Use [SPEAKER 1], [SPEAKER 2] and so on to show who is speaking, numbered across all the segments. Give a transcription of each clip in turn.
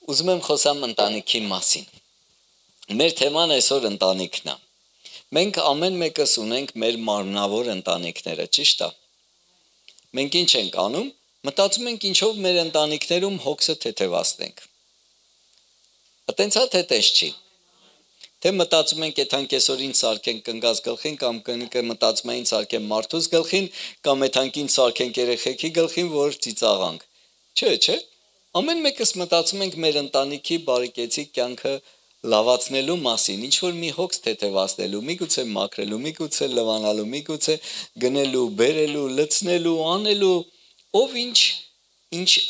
[SPEAKER 1] Ուզում եմ խոսամ ընտանիքի մասին։ Մեր թեման այսօր ընտանիքն է։ Մենք ամեն մեկս ունենք մեր մարմնավոր ընտանիքները, ճիշտ է։ Մենք ինչ ենք անում, մտածում ենք ինչով մեր ընտանիքներում հոգսը թեթևացնենք։ Այտենց է թե տես չի։ Թե մտածում ենք եթան կեսօրին սարքենք կնգազ գլխին կամ մտածում ենք սարքենք մարդուս գլխին կամ եթանքին սարքենք երեխեքի գլխին, որ ծիծաղանք։ Չէ։ Ամեն մեկս մտածում ենք մեր ընտանիքի բարեկեցիկ կյանքը լավացնելու մասին, ինչ որ մի հոգս թեթևացնելու, միգուցե մաքրելու, միգուցե լվանալու, միգուցե գնելու, բերելու, լցնելու, անելու, ով ինչ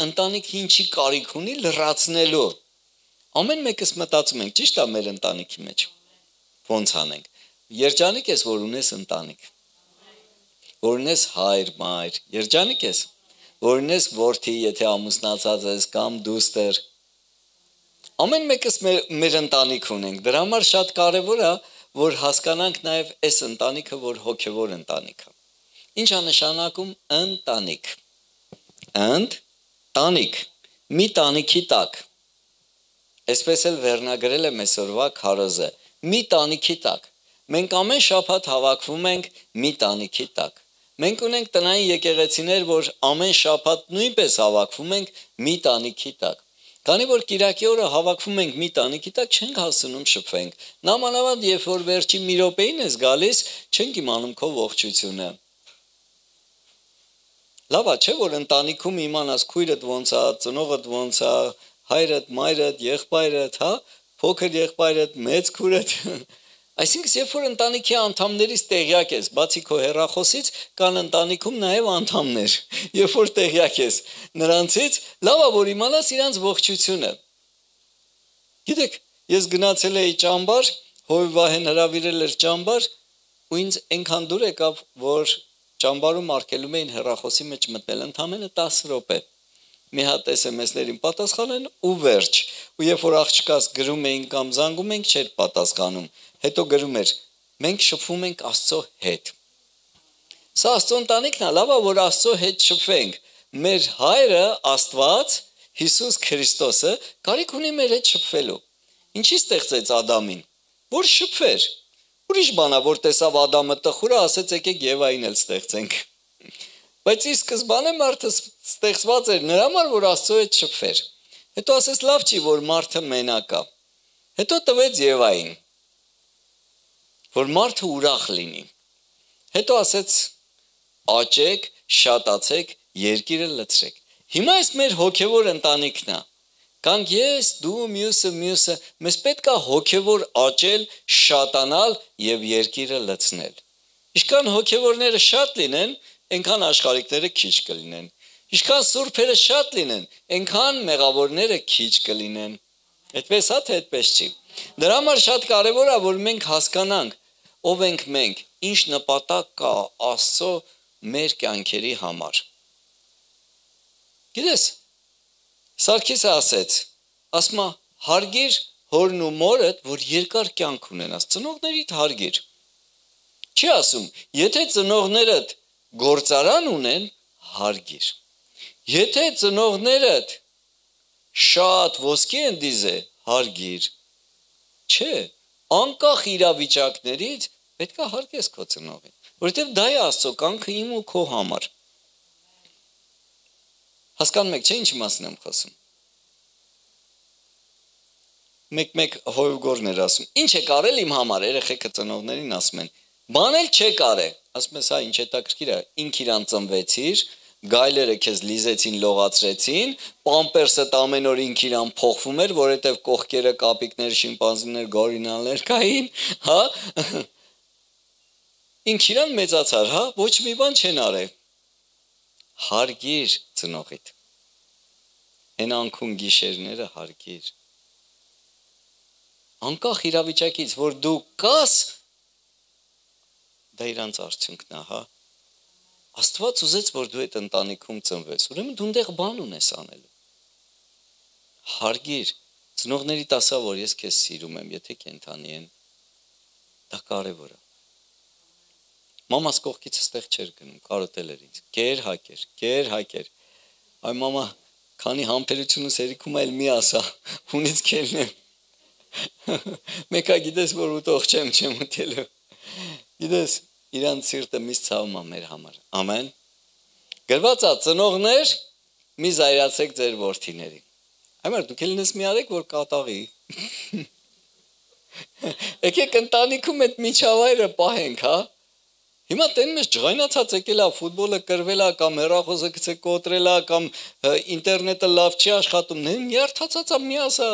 [SPEAKER 1] ընտանիքը ինչի կարիք ունի լրացնելու։ Ամեն մեկս մտածում ենք, ճիշտ է մեր ընտանիքի մեջ։ Ոնց անենք։ Երջանիկ ես, որ ունես ընտանիք։ Որ ունես հայր, մայր, երջանիկ ես։ Որ ունես որդի, եթե ամուսնացած ես կամ դուստր։ Ամեն մեկս մեր ընտանիք ունենք։ Դրա համար շատ կարևոր է, որ հասկանանք նաև այս ընտանիքը, որ հոգևոր ընտանիք է։ Ինչ է նշանակում ընտանիք։ Ընտանիք։ Մի տանիքի տակ։ Այսպես էլ վերնագրել եմ այսօրվա քարոզը։ Մի տանիքի տակ։ Մենք ամեն շաբաթ հավաքվում ենք մի տանիքի տակ։ Մենք ունենք տնային եկեղեցիներ, որ ամեն շաբաթ նույնպես հավաքվում ենք մի տանիքի տակ։ Քանի որ կիրակի օրը հավաքվում ենք մի տանիքի տակ, չենք հասնում շփվենք։ Նամանավանդ երբ որ վերջի մի րոպեին ես գալիս, չենք իմանում քո ողջությունը։ Լավ է, չէ՞ որ ընտանիքում իմանաս քույրդ ոնց է, ծնողդ ոնց է, հայրդ, մայրդ, եղբայրդ, հա, փոքր եղբայրդ, մեծ քուրդ։ Այսինքն, երբ որ ընտանիքի անդամներից տեղյակ ես, բացի քո հեռախոսից, կան ընտանիքում նաև անդամներ։ Երբ որ տեղյակ ես նրանցից, լավ է որ իմանաս իրանց ողջությունը։ Գիտեք, ես գնացել էի ճամբար, Հովիվահեն հրավիրել էր ճամբար, ու ինձ այնքան դուր եկավ, որ ճամբարում արգելում էին հեռախոսի մեջ մտնել ընդամենը 10 րոպե։ Մի հատ SMS-ներին պատասխանեն ու վերջ։ Ու երբ որ աղջկաս գրում էին կամ զանգում ենք, չէր պատասխանում։ Հետո գրում էր. մենք շփվում ենք Աստծո հետ։ Սա Աստծո ընտանիքն է, լավ է որ Աստծո հետ շփվենք։ Մեր հայրը Աստված, Հիսուս Քրիստոսը, կարիք ունի մեր հետ շփվելու։ Ինչի ստեղծեց Ադամին, որ շփվեր։ Ուրիշ բան է, որ տեսավ Ադամը տխուրը, ասեց եկեք Եվային էլ ստեղծենք։ Բայց ի սկզբանե մարդը ստեղծված էր նրա համար, որ Աստծո հետ շփվեր։ Հետո ասեց լավ չի, որ մարդը մենակ է։ Հետո տվեց Եվային, որ մարդը ուրախ լինի։ Հետո ասեց աճեք, շատացեք, երկիրը լցրեք։ Հիմա այս մեր հոգևոր ընտանիքն է։ Կանք ես, դու, մյուսը, մեզ պետք է հոգևոր աճել, շատանալ եւ երկիրը լցնել։ Ինչքան հոգևորները շատ լինեն, այնքան աշխարհիկները քիչ կլինեն։ Ինչքան սուրբերը շատ լինեն, այնքան մեղավորները քիչ կլինեն։ Այդպես է, թե այդպես չի։ Դրա համար շատ կարևոր է, որ մենք հասկանանք ով ենք մենք, ինչ նպատակ կա Աստծո մեր կյանքերի համար։ Գիտես, Սարգիսը ասում է հարգիր հորն ու մորդ, որ երկար կյանք ունենաս, ծնողներիդ հարգիր։ Չի ասում, եթե ծնողներդ գործարան ունեն, հարգիր։ Եթե ծնողներդ շատ ոսկի են դիզե, հարգիր։ Չէ, անկախ իրավիճակներից պետք է հարգես քո ծնողին, որովհետև դա է Աստծո կամքը իմ ու քո համար։ Հասկանում եք, չէ՞ ինչի մասին եմ խոսում։ Մեկ հովգորն էր ասում. ինչ եք արել իմ համար, երեխեքը ծնողներին ասում են, բան էլ չեք արել։ Ասում ես, հա, ինչ հետաքրքիր է, ինք իրան ծնվեցիր, գայլերը քեզ լիզեցին, լողացրեցին, պամպերսդ ամեն օր ինք իրան փոխվում էր, որովհետև կողքերը կապիկներ, շիմպանզիներ, գորիլաներ կային, հա։ Ինք իրան մեծացար, հա, ոչ մի բան չեն արել։ Հարգիր ծնողիդ։ Հեն անքուն գիշերները հարգիր։ Անկախ իրավիճակից, որ դու կաս, դա իրանց արդյունքն է, հա։ Աստված ուզեց, որ դու այդ ընտանիքում ծնվես, ուրեմն դու այնտեղ բան ունես անելու։ Հարգիր, ծնողներիդ ասա, որ ես քեզ սիրում եմ, եթե կենդանի են, դա կարևոր է։ Մամաս կողքից ստեղ չէր գնում, կարոտել էր ինձ, կեր հակեր, այ մամա, Քանի համբերությունս երիքում այլ մի ասա, ունից քելնեմ։ Մեկա գիտես, որ ուտող չեմ ուտելու։ Գիտես, իրանց սիրտը միշտ ցավում է մեր համար։ Ամեն։ Գրված է ծնողներ, մի զայրացեք ձեր որդիներին։ Այմար դուք ելնես մի արեք, որ կատաղի։ Եկեք ընտանիքում այդ միջավայրը պահենք, հա։ Հիմա տենում ես ջղայնացած եկել է, ֆուտբոլը կրվել է, կամ հեռախոսը գցե կոտրել է, կամ ինտերնետը լավ չի աշխատում, նյարդացած է մի ասա,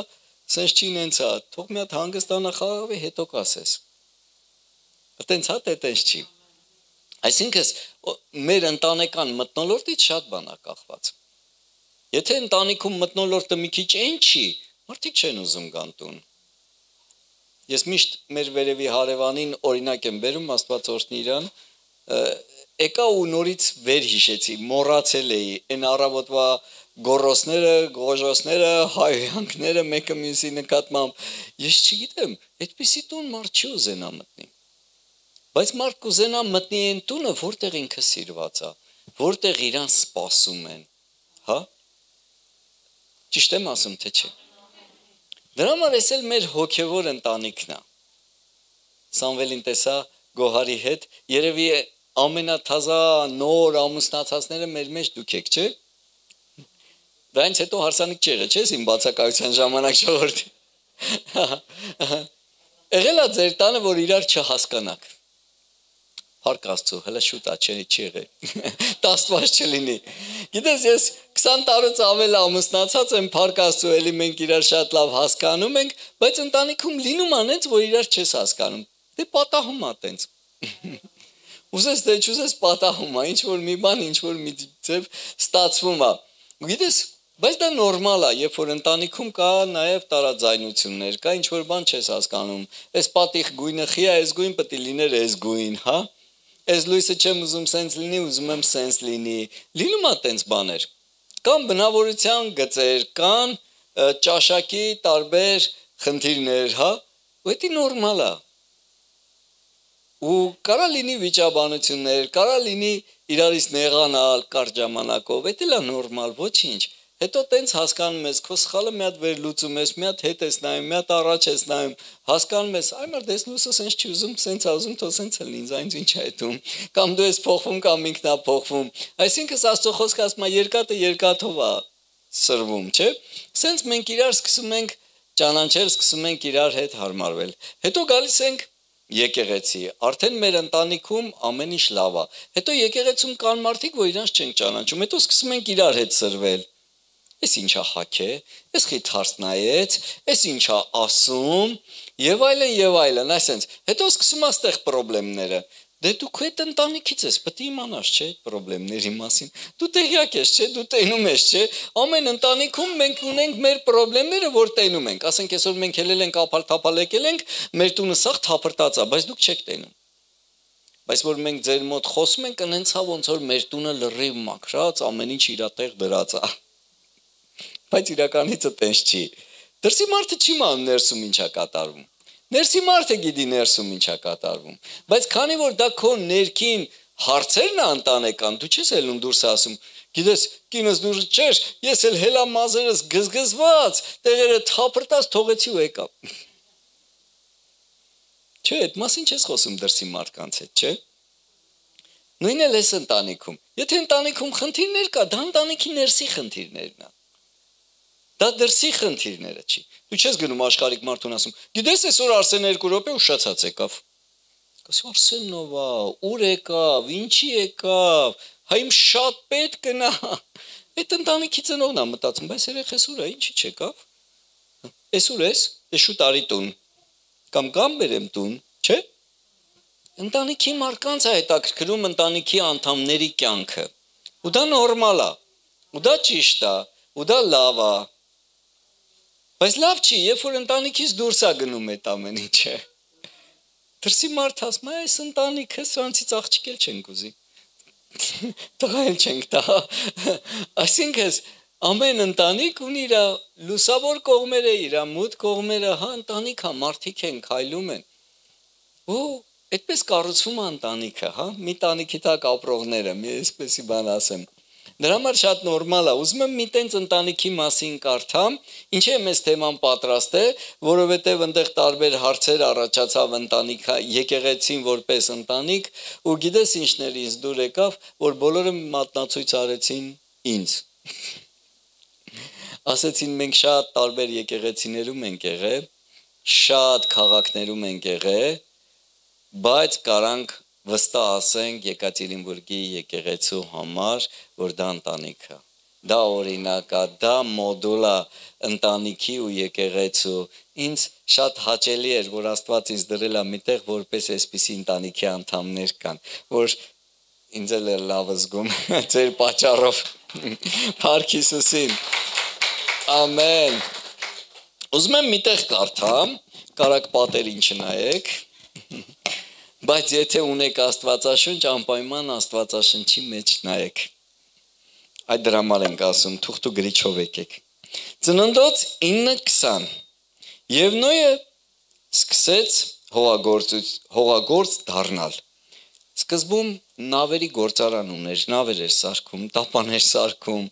[SPEAKER 1] սենց չի նենց է, թող մի հատ հանգստանա խաղաղվի, հետո կասես։ Տենց հա, տենց չի։ Այսինքն մեր ընտանեկան մթնոլորտից շատ բան է կախված։ Եթե ընտանիքում մթնոլորտը մի քիչ այն չի, մարդիկ չեն ուզում գան տուն։ Ես միշտ մեր վերևի հարևանին օրինակ եմ բերում, Աստված օրհնի իրան, եկա ու նորից վեր հիշեցի, մոռացել էի, այն առավոտվա գոռոսները, գոժոսները, հայհյանքները մեկը մյուսի նկատմամբ, ես չգիտեմ, այդպիսի տուն մարդ չի ուզենա մտնի։ Բայց մարդ կուզենա մտնի այն տունը, որտեղ ինքը սիրված է, որտեղ իրան սպասում են, հա։ Ճիշտ եմ ասում, թե չէ։ Դրա համար էս էլ մեր հոգևոր ընտանիքն է։ Սամվելին տեսա Գոհարի հետ, երևի ամենաթազա նոր ամուսնացածները մեր մեջ դուք եք, չէ։ Դրանից հետո հարսանիք չի եղել, չէ՞, իմ բացակայության ժամանակ ժողովրդի։ Եղել է ձեր տանը, որ իրար չհասկանաք։ Փառք Աստծո, հələ շուտ է, չի եղել։ Տաստված չլինի։ Գիտես, ես 20 տարուց ավել ամուսնացած եմ, փառք Աստծո, էլի մենք իրար շատ լավ հասկանում ենք, բայց ընտանիքում լինում անենց, որ իրար չես հասկանում։ Դե պատահում է տենց։ Ուզես դե չուզես պատահում է, ինչ որ մի բան, ինչ որ մի ձև ստացվում է։ Գիտես, բայց դա նորմալ է, երբ որ ընտանիքում կա նաև տարաձայնություններ, կա ինչ որ բան չես հասկանում։ Այս պատիխ գույնը խի է, այս գույն պետք է լիներ այս գույն, հա։ Այս լույսը չեմ ուզում սենց լինի, ուզում եմ սենց լինի։ Լինում է տենց բաներ։ Կան բնավորության գծեր, կան ճաշակի տարբեր խնդիրներ, հա։ Ու դա նորմալ է։ Ու կարա լինի վիճաբանություններ, կարա լինի իրարից նեղանալ կարճ ժամանակով, դա էլ է նորմալ, ոչինչ։ Հետո տենց հասկանում ես, քո սխալը մի հատ վեր լուծում ես, մի հատ հետ ես նայում, մի հատ առաջ ես նայում, հասկանում ես, այ մար դες լույսը սենց չի ուզում, սենց է ուզում, թող սենց է լինի, ինձ ինչ է հետում։ Կամ դու ես փոխվում, կամ ինքն է փոխվում։ Այսինքն Աստծո խոսքը ասում է, երկաթը երկաթով է սրվում, չէ՞։ Սենց մենք իրար սկսում ենք ճանաչել, սկսում ենք իրար հետ հարմարվել։ Հետո գալիս ենք եկեղեցի, արդեն մեր ընտանիքում ամեն ինչ լավ է։ Հետո եկեղեցում կան մարդիկ, որ իրանց չեն ճանաչում, հետո սկսում ենք իրար հետ սրվել։ Էս ինչա հաք է, էս խիթարս նայեց, էս ինչա ասում, եւ այլն, այսենց։ Հետո սկսում է ստեղ խնդիրները։ Դե դու քո այդ ընտանիքից ես, պետք է իմանաս, չէ, այդ խնդիրների մասին։ Դու տեղյակ ես, չէ, դու տենում ես, չէ։ Ամեն ընտանիքում մենք ունենք մեր խնդիրները, որ տենում ենք։ Ասենք այսօր մենք ելել ենք ափալ-թափալ եկել ենք, մեր տունը սաղ թափրտած է, բայց դուք չեք տենում։ Բայց որ մենք ձեր մոտ խոսում ենք, ընենց է ոնց որ մեր տունը լրիվ մաքրած, ամեն ինչ իր տեղ դրած է։ Բայց իրականիցը տենց չի։ Դրսի մարդը չի մանում ներսում ինչա կատարվում։ Ներսի մարդը գիտի ներսում ինչա կատարվում։ Բայց քանի որ դա քո ներքին հարցերն է ընտանեկան, դու չես ելնում դուրս ասում, գիտես, կինս դուրս չէր, ես էլ հելա մազերս գզգզված, տեղերը թափրտած թողեցի ու եկա։ Չէ, այդ մասին չես խոսում դրսի մարդկանց հետ, չէ։ Նույնն էլ էս ընտանիքում։ Եթե ընտանիքում խնդիրներ կա, դա ընտանիքի ներսի խնդիրներն է։ Դա դրսի խնդիրները չի։ Դու չես գնում աշխարհիկ մարդուն ասում, գիտես այսօր Արսեն 2 րոպե ուշացած եկավ։ Կասի Արսենով է, ուր եկավ, ինչի եկավ, հա իմ շատ պետք գնա։ Այդ ընտանիքի ծնողն է մտածում, բայց երեխես ուր է, ինչի չեկավ։ Այսօր ես, դե շուտ արի տուն։ Կամ բերեմ տուն, չէ։ Ընտանիքի մարկանց է հետաքրքրում ընտանիքի անդամների կյանքը։ Ու դա նորմալ է։ Ու դա ճիշտ է, ու դա լավ է։ Բայց լավ չի, երբ որ ընտանիքից դուրս է գնում այդ ամեն ինչը։ Դրսի մարդ ասում է, այս ընտանիքը սրանցից աղջիկ էլ չենք ուզի։ Տղա էլ չենք տա։ Այսինքն ամեն ընտանիք ունի իր լուսավոր կողմերը, իր մութ կողմերը, հա, ընտանիքա, մարդիկ են, քայլում են։ Ու այդպես կառուցվում է ընտանիքը, հա, մի տանիքի տակ ապրողները, մի այսպեսի բան ասեմ։ Դրա համար շատ նորմալ է։ Ուզում եմ մի տենց ընտանիքի մասին կարդամ, ինչի եմ այս թեման պատրաստել, որովհետև այնտեղ տարբեր հարցեր առաջացավ ընտանիքը, եկեղեցին որպես ընտանիք, ու գիտես ինչներ ինձ դուր եկավ, որ բոլորը մատնացույց արեցին ինձ։ Ասեցին մենք շատ տարբեր եկեղեցիներում ենք եղել, շատ քաղաքներում ենք եղել, բայց կարանք վստահ ասենք Եկատերինբուրգի եկեղեցու համար, որ դա ընտանիք է։ Դա օրինակ է, դա մոդուլ է ընտանիքի ու եկեղեցու։ Ինձ շատ հաճելի էր, որ Աստված ինձ դրել է միտեղ, որպես այսպիսի ընտանիքի անդամներ կան, որ ինձ էլ է լավ զգում ձեր պատճառով։ Փառք Հիսուսին։ Ամեն։ Ուզում եմ միտեղ կարդամ, կարակ պատերին չնայեք։ Բայց եթե ունեք Աստվածաշունչ, անպայման Աստվածաշնչի մեջ նայեք։ Այդ դրա համար ենք ասում, թուղթ ու գրիչով եկեք։ Ծննդոց 9:20 Եվ Նոյը սկսեց հողագործ դառնալ։ Սկզբում նավերի գործարան ուներ, նավեր էր սարքում, տապաներ սարքում։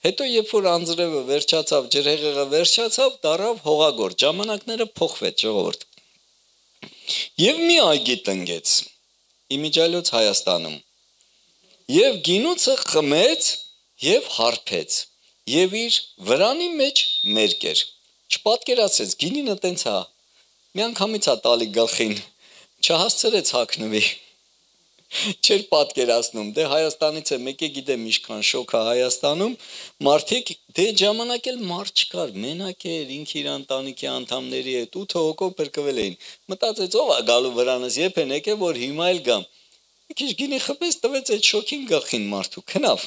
[SPEAKER 1] Հետո երբ որ անձրևը վերջացավ, ջրհեղեղը վերջացավ, դառավ հողագործ։ Ժամանակները փոխվեց, ժողովուրդ։ Եվ մի այգի տնկեց Իմիջիայլոց Հայաստանում, եւ գինուցը խմեց եւ հարբեց, եւ իր վրանի մեջ մերկ էր։ Չպատկերացրեց, գինինը տենց է, միանգամից է տալի գլխին, չհասցրեց հագնվի։ Չէր պատկերացնում, դե Հայաստանից է, մեկը գիտեմ ինչքան շոկ է Հայաստանում, մարդիկ դե ժամանակ էլ մարդ չկար, մենակ էր, ինքը իր ընտանիքի անդամների հետ 8 հոգով փրկվել էին։ Մտածեց ով է գալու վրանս, երբ են եկել, որ հիմա էլ գամ։ Մի քիչ գինի խփեց, տվեց այդ շոկին գլխին մարդու, քնավ։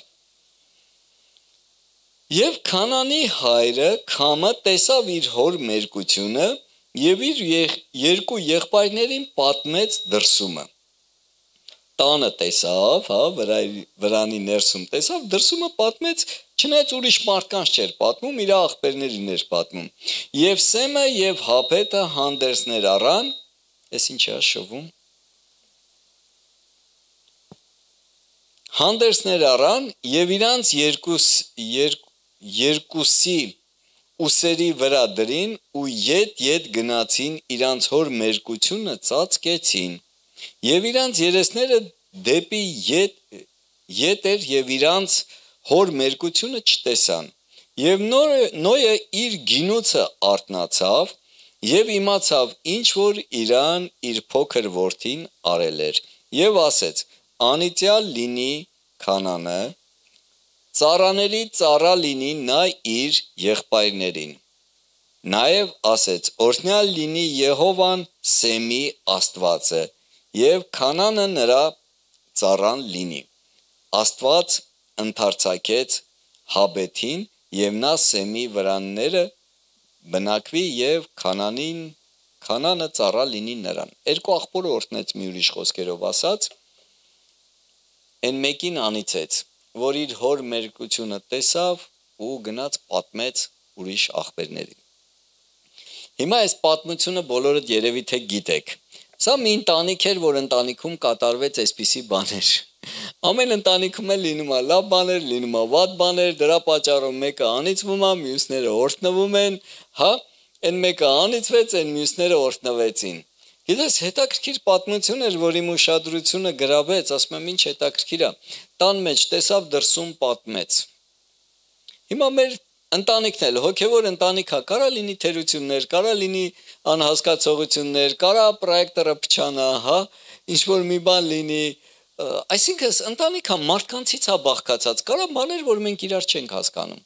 [SPEAKER 1] Եվ Քանանի հայրը Քամը տեսավ իր հոր մերկությունը եւ իր երկու եղբայրներին պատմեց դրսումը։ Տանը տեսավ, վրանի ներսում տեսավ, դրսումը պատմեց, չնայած ուրիշ մարդկանց չէր պատմում, իր աղբերներին էր պատմում։ Եվ Սեմը եւ Հափետը հանդերձներ առան, այս ինչ է շովում։ Հանդերձներ առան եւ իրանց երկուսի ուսերի վրա դրին ու ետ գնացին, իրանց հոր մերկությունը ծածկեցին։ Եվ իրանց երեսները դեպի ետ էր եւ իրանց հոր մերկությունը չտեսան։ Եվ Նոյը իր գինուցը արթնացավ եւ իմացավ ինչ որ իրան իր փոքր որդին արել էր եւ ասեց. անիծյալ լինի Քանանը, ծառաների ծառա լինի նա իր եղբայրներին։ Նաեւ ասեց. օրհնյալ լինի Եհովան Սեմի Աստվածը եւ Քանանը նրա ծառան լինի։ Աստված ընդարձակեց Հաբեթին եւ նա Սեմի վրանները բնակվի եւ Քանանը ծառա լինի նրան։ Երկու աղբորը օրհնեց մի ուրիշ խոսքերով ասած, այն մեկին անիծեց, որ իր հոր մերկությունը տեսավ ու գնաց պատմեց ուրիշ աղբերներին։ Հիմա այս պատմությունը բոլորդ երևի թե գիտեք։ Սա մի ընտանիք էր, որ ընտանիքում կատարվեց այսպիսի բաներ։ Ամեն ընտանիքում էլ լինում է լավ բաներ, լինում է վատ բաներ, դրա պատճառով մեկը անիծվում է, մյուսները օրհնվում են, հա, այն մեկը անիծվեց, այն մյուսները օրհնվեցին։ Գիտես, հետաքրքիր պատմություն էր, որ իմ ուշադրությունը գրավեց, ասում եմ ինչ հետաքրքիր է։ Տան մեջ տեսավ, դրսում պատմեց։ Հիմա մեր ընտանիքն էլ հոգևոր ընտանիք է, կարա լինի թերություններ, կարա լինի անհասկացողություններ, կարա պրոյեկտորը փչանա, հա, ինչ որ մի բան լինի, այսինքն ընտանիքը մարդկանցից է բաղկացած, կարա բաներ, որ մենք իրար չենք հասկանում։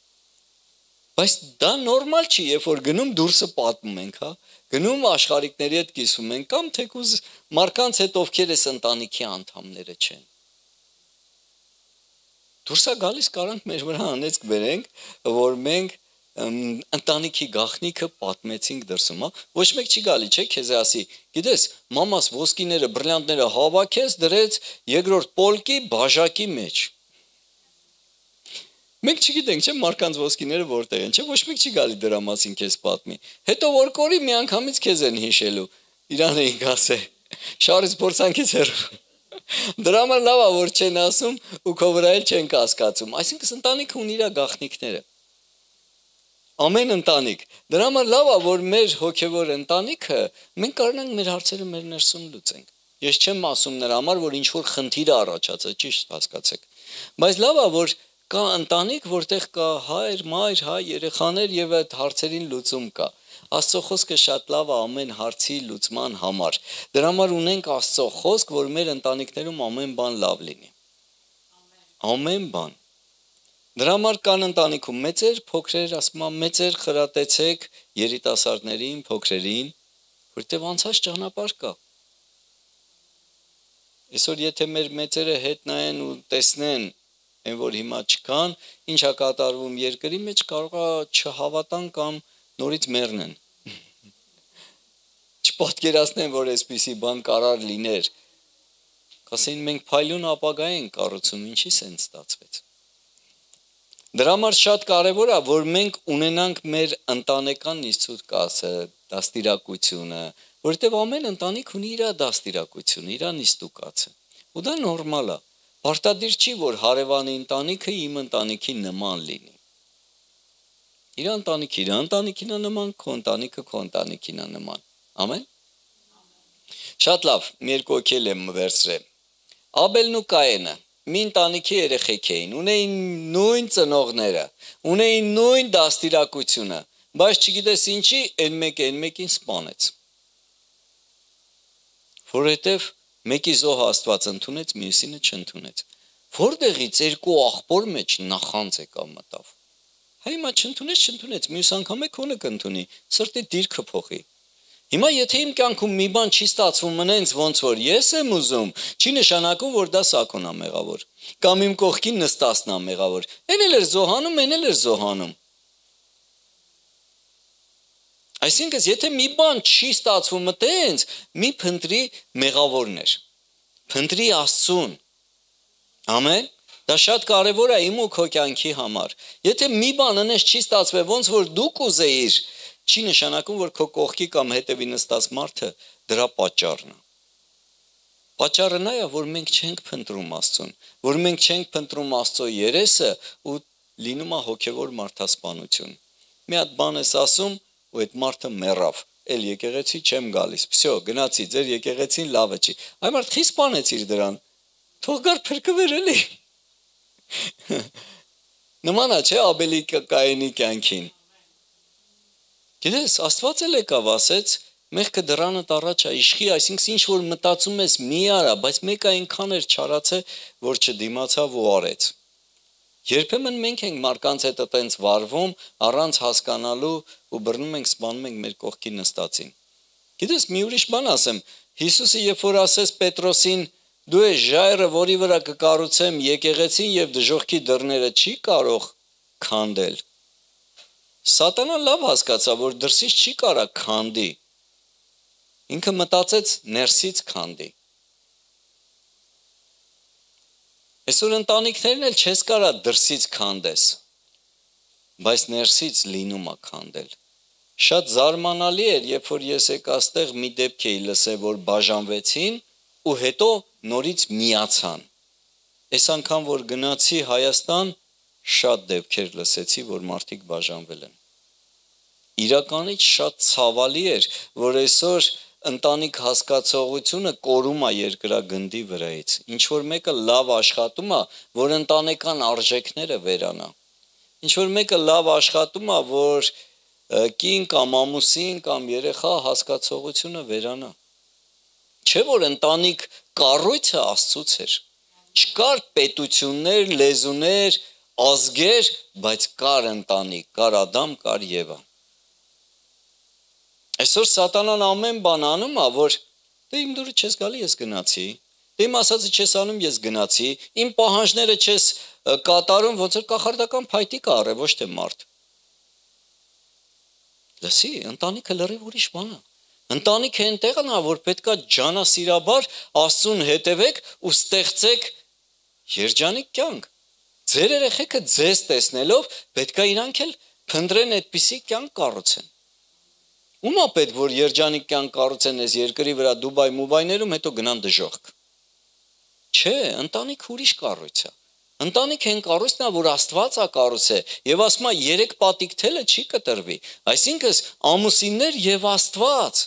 [SPEAKER 1] Բայց դա նորմալ չի, երբ որ գնում դուրսը պատմում ենք, հա, գնում աշխարհիկների հետ կիսվում ենք, կամ թեկուզ մարդկանց հետ ովքեր էս ընտանիքի անդամները չեն։ Դուրսա գալիս կարանք մեր վրա անեծք բերենք, որ մենք ընտանիքի գաղտնիքը պատմեցինք դրսում, հա, ոչ մեկ չի գալի, չէ, քեզ ասի, գիտես, մամաս ոսկիները, բրիլյանտները հավաքեց, դրեց երկրորդ պոլկի բաժակի մեջ։ Մենք չգիտենք, չէ, մարդկանց ոսկիները որտեղ են, չէ, ոչ մեկ չի գալի դրա մասին քեզ պատմի։ Հետո որ կորի միանգամից քեզ են հիշելու, իրան էինք ասել, շարից փորձանքից հեռու։ Դրա համար լավ է, որ չեն ասում ու քո վրա էլ չեն կասկածում։ Այսինքն ընտանիքը ունի իր գաղտնիքները։ Ամեն ընտանիք։ Դրա համար լավ է, որ մեր հոգևոր ընտանիքը մենք կարողանանք մեր հարցերը մեր ներսում լուծենք։ Ես չեմ ասում նրա համար, որ ինչ որ խնդիր է առաջացած, ճիշտ հասկացեք։ Բայց լավ է, որ կա ընտանիք, որտեղ կա հայր, մայր, երեխաներ եւ այդ հարցերին լուծում կա։ Աստծո խոսքը շատ լավ է ամեն հարցի լուծման համար։ Դրա համար ունենք Աստծո խոսք, որ մեր ընտանիքներում ամեն բան լավ լինի։ Ամեն բան։ Դրա համար կան ընտանիքում մեծեր, փոքրեր, ասում եմ, մեծեր խրատեցեք երիտասարդներին, փոքրերին, որտեղ անցած ճանապարհ կա։ Այսօր եթե մեր մեծերը հետ նայեն ու տեսնեն, այն որ հիմա չկան, ինչա կատարվում երկրի մեջ, կարող է չհավատան կամ նորից մեռնեն։ Չպատկերացնեն, որ այսպիսի բան կարող լիներ։ Կասեն մենք փայլուն ապագա ենք կառուցում, ինչի սենց ստացվեց։ Դրա համար շատ կարևոր է, որ մենք ունենանք մեր ընտանեկան նիստուր կասը, դաստիարակությունը, որովհետև ամեն ընտանիք ունի իր դաստիարակությունը, իր նիստուկացը։ Ու դա նորմալ է։ Պարտադիր չի, որ հարևանի ընտանիքը իմ ընտանիքի նման լինի։ Իր ընտանիքին է նման, քո ընտանիքը քո ընտանիքին է նման։ Ամեն։ Շատ լավ, մի երկու օքել եմ վերցրել։ Աբելն ու Կայենը մի ընտանիքի երեխեք էին, ունեին նույն ծնողները, ունեին նույն դաստիարակությունը, բայց չգիտես ինչի, այն մեկին սպանեց։ Որովհետև մեկի զոհը Աստված ընդունեց, մյուսինը չընդունեց։ Որտեղից երկու աղբոր մեջ նախանձ եկավ մտավ։ Հիմա չընդունեց, մյուս անգամ քոնը կընդունի, սրտի դիրքը փոխի։ Հիմա եթե իմ կյանքում մի բան չի ստացվում մնենց ոնց որ ես եմ ուզում, չի նշանակում, որ դա Սակոն է մեղավոր, կամ իմ կողքին Նստասն է մեղավոր։ Էն էլ էր զոհանում։ Այսինքն, եթե մի բան չի ստացվում մտենց, մի փնտրի մեղավորներ։ Փնտրի Աստծուն։ Ամեն։ Դա շատ կարևոր է իմ ու քո կյանքի համար։ Եթե մի բան անես չի ստացվել, ոնց որ դու կուզեիր, չի նշանակում, որ քո կողքի կամ հետևի նստած մարդը դրա պատճառն է։ Պատճառը նա է, որ մենք չենք փնտրում Աստծուն, որ մենք չենք փնտրում Աստծո երեսը ու լինում է հոգևոր մարդասպանություն։ Մի հատ բան ես ասում ու այդ մարդը մեռավ, էլ եկեղեցի չեմ գալիս, վсё, գնացի, ձեր եկեղեցին լավը չի։ Այ մարդ խի սպանեցիր դրան, թող գար փրկվեր էլի։ Նման է, չէ, Աբելի Կայենի կյանքին։ Գիտես, Աստված էլ եկավ ասեց, մեղքը դրանդ առաջ է իշխի, այսինքն ինչ որ մտածում ես մի արա, բայց մեկը այնքան էր չարացե, որ չդիմացավ ու արեց։ Երբեմն մենք ենք մարդկանց հետ այտենց վարվում, առանց հասկանալու ու բռնում ենք, սպանում ենք մեր կողքի նստածին։ Գիտես, մի ուրիշ բան ասեմ, Հիսուսը երբ որ ասեց Պետրոսին, դու ես ժայռը, որի վրա կկառուցեմ եկեղեցին եւ դժոխքի դռները չի կարող քանդել։ Սատանան լավ հասկացավ, որ դրսից չի կարա քանդի։ Ինքը մտածեց ներսից քանդի։ Այսօր ընտանիքներն էլ չես կարա դրսից քանդես, բայց ներսից լինում է քանդել։ Շատ զարմանալի էր, երբ որ ես եկաստեղ մի դեպք էի լսել, որ բաժանվեցին ու հետո նորից միացան։ Այս անգամ որ գնացի Հայաստան, շատ դեպքեր լսեցի, որ մարդիկ բաժանվել են։ Իրականից շատ ցավալի էր, որ այսօր ընտանիք հասկացողությունը կորում է երկրագնդի վրայից։ Ինչ որ մեկը լավ աշխատում է, որ ընտանեկան արժեքները վերանա։ Ինչ որ մեկը լավ աշխատում է, որ կին կամ ամուսին կամ երեխա հասկացողությունը վերանա։ Չէ որ ընտանիք կառույցը Աստծուց էր։ Չկար պետություններ, լեզուներ, ազգեր, բայց կար ընտանիք, կար Ադամ, կար Եվա։ Այսօր սատանան ամեն բան անում է, որ դե իմ դուրը չես գալի, ես գնացի, դե իմ ասածը չես անում, ես գնացի, իմ պահանջները չես կատարում, ոնց որ կախարդական փայտիկ առե, ոչ թե մարդ։ Լսի, ընտանիքը լրիվ ուրիշ բան է։ Ընտանիքը այնտեղն է, որ պետքա ջանասիրաբար Աստծուն հետևեք ու ստեղծեք երջանիկ կյանք։ Ձեր երեխեքը ձեզ տեսնելով պետքա իրանք էլ փնտրեն այդպիսի կյանք կառուցեն։ Ում է պետք որ երջանիկ կյանք կառուցեն այս երկրի վրա Դուբայ, Մուբայներում, հետո գնան դժոխք։ Չէ, ընտանիք ուրիշ կառույց է։ Ընտանիք են կառույցն է, որ Աստված է կառուցել, եւ ասում է 3 պատիկ թելը չի կտրվի։ Այսինքն ամուսիններ եւ Աստված։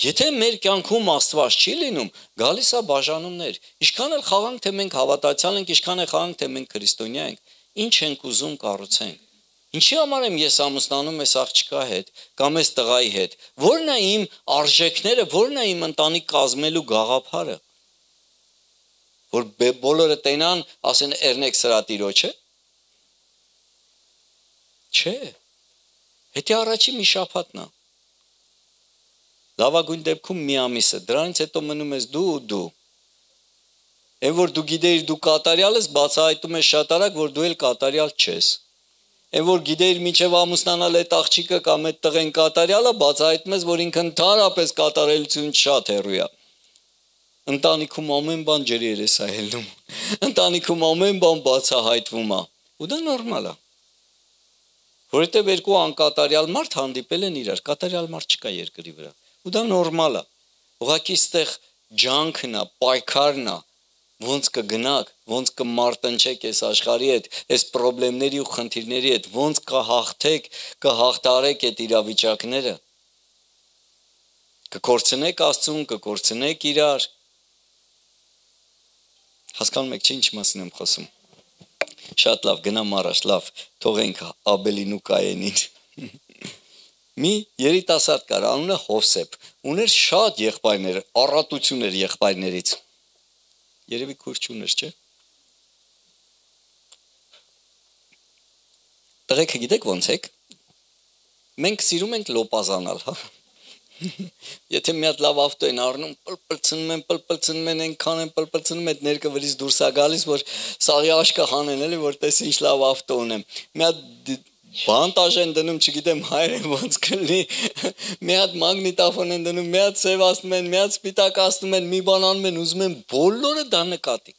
[SPEAKER 1] Եթե մեր կյանքում Աստված չի լինում, գալիս է բաժանումներ։ Ինչքան էլ խաղանք, թե մենք հավատացյալ ենք, ինչքան էլ խաղանք, թե մենք քրիստոնյա ենք, ինչ ենք ուզում կառուցենք։ Ինչի համար եմ ես ամուսնանում ես աղջկա հետ կամ ես տղայի հետ։ Որն է իմ արժեքները, որն է իմ ընտանիք կազմելու գաղափարը։ Որ բոլորը տենան, ասեն Էրնեք սրա տիրոջը։ Չէ։ Հետո առաջի մի շաբաթն է։ Լավագույն դեպքում մի ամիս է, դրանից հետո մնում ես դու ու դու։ Այն որ դու գիտեիր դու կատարյալ ես, բացահայտում ես շատ արագ, որ դու էլ կատարյալ չես։ Այն որ գիտեիր մինչև ամուսնանալ այդ աղջիկը կամ այդ տղեն կատարյալը, բացահայտում ես, որ ինքը ընդհանրապես կատարելություն շատ հեռու է։ Ընտանիքում ամեն բան ջրի երես է ելնում։ Ընտանիքում ամեն բան բացահայտվում է։ Ու դա նորմալ է։ Որովհետև երկու անկատարյալ մարդ հանդիպել են իրար, կատարյալ մարդ չկա երկրի վրա։ Ու դա նորմալ է։ Ուղղակի ստեղ ջանքն է, պայքարն է, ոնց կգնաք, ոնց կմարտնչեք այս աշխարհի հետ, այս խնդիրների ու խնդիրների հետ, ոնց կհաղթեք, կհաղթարեք այդ իրավիճակները։ Կկորցնեք Աստծուն, կկորցնեք իրար։ Հասկանում եք, ինչ մասին եմ խոսում։ Շատ լավ, գնամ առաջ, լավ, թողենք Աբելին ու Կայենին։ Մի երիտասարդ կար, անունը Հովսեփ, ուներ շատ եղբայրներ, առատություն էր եղբայրներից։ Երևի քուր չուներ, չէ՞։ Տղեքը գիտեք ոնց եք։ Մենք սիրում ենք լոպազանալ, հա։ Եթե մի հատ լավ ավտո են առնում, պլպլցնում են, այնքան են պլպլցնում, այդ ներկը վրից դուրս է գալիս, որ սաղի աշկը հանեն, էլի, որ տես ինչ լավ ավտո ունեմ։ Մի հատ բանտաժ են դնում, չգիտեմ հայերեն ոնց կլինի, մի հատ մագնիտոֆոն են դնում, մի հատ սև ասնում են, մի հատ սպիտակ ասնում են, մի բան անում են, ուզում են բոլորը դա նկատի։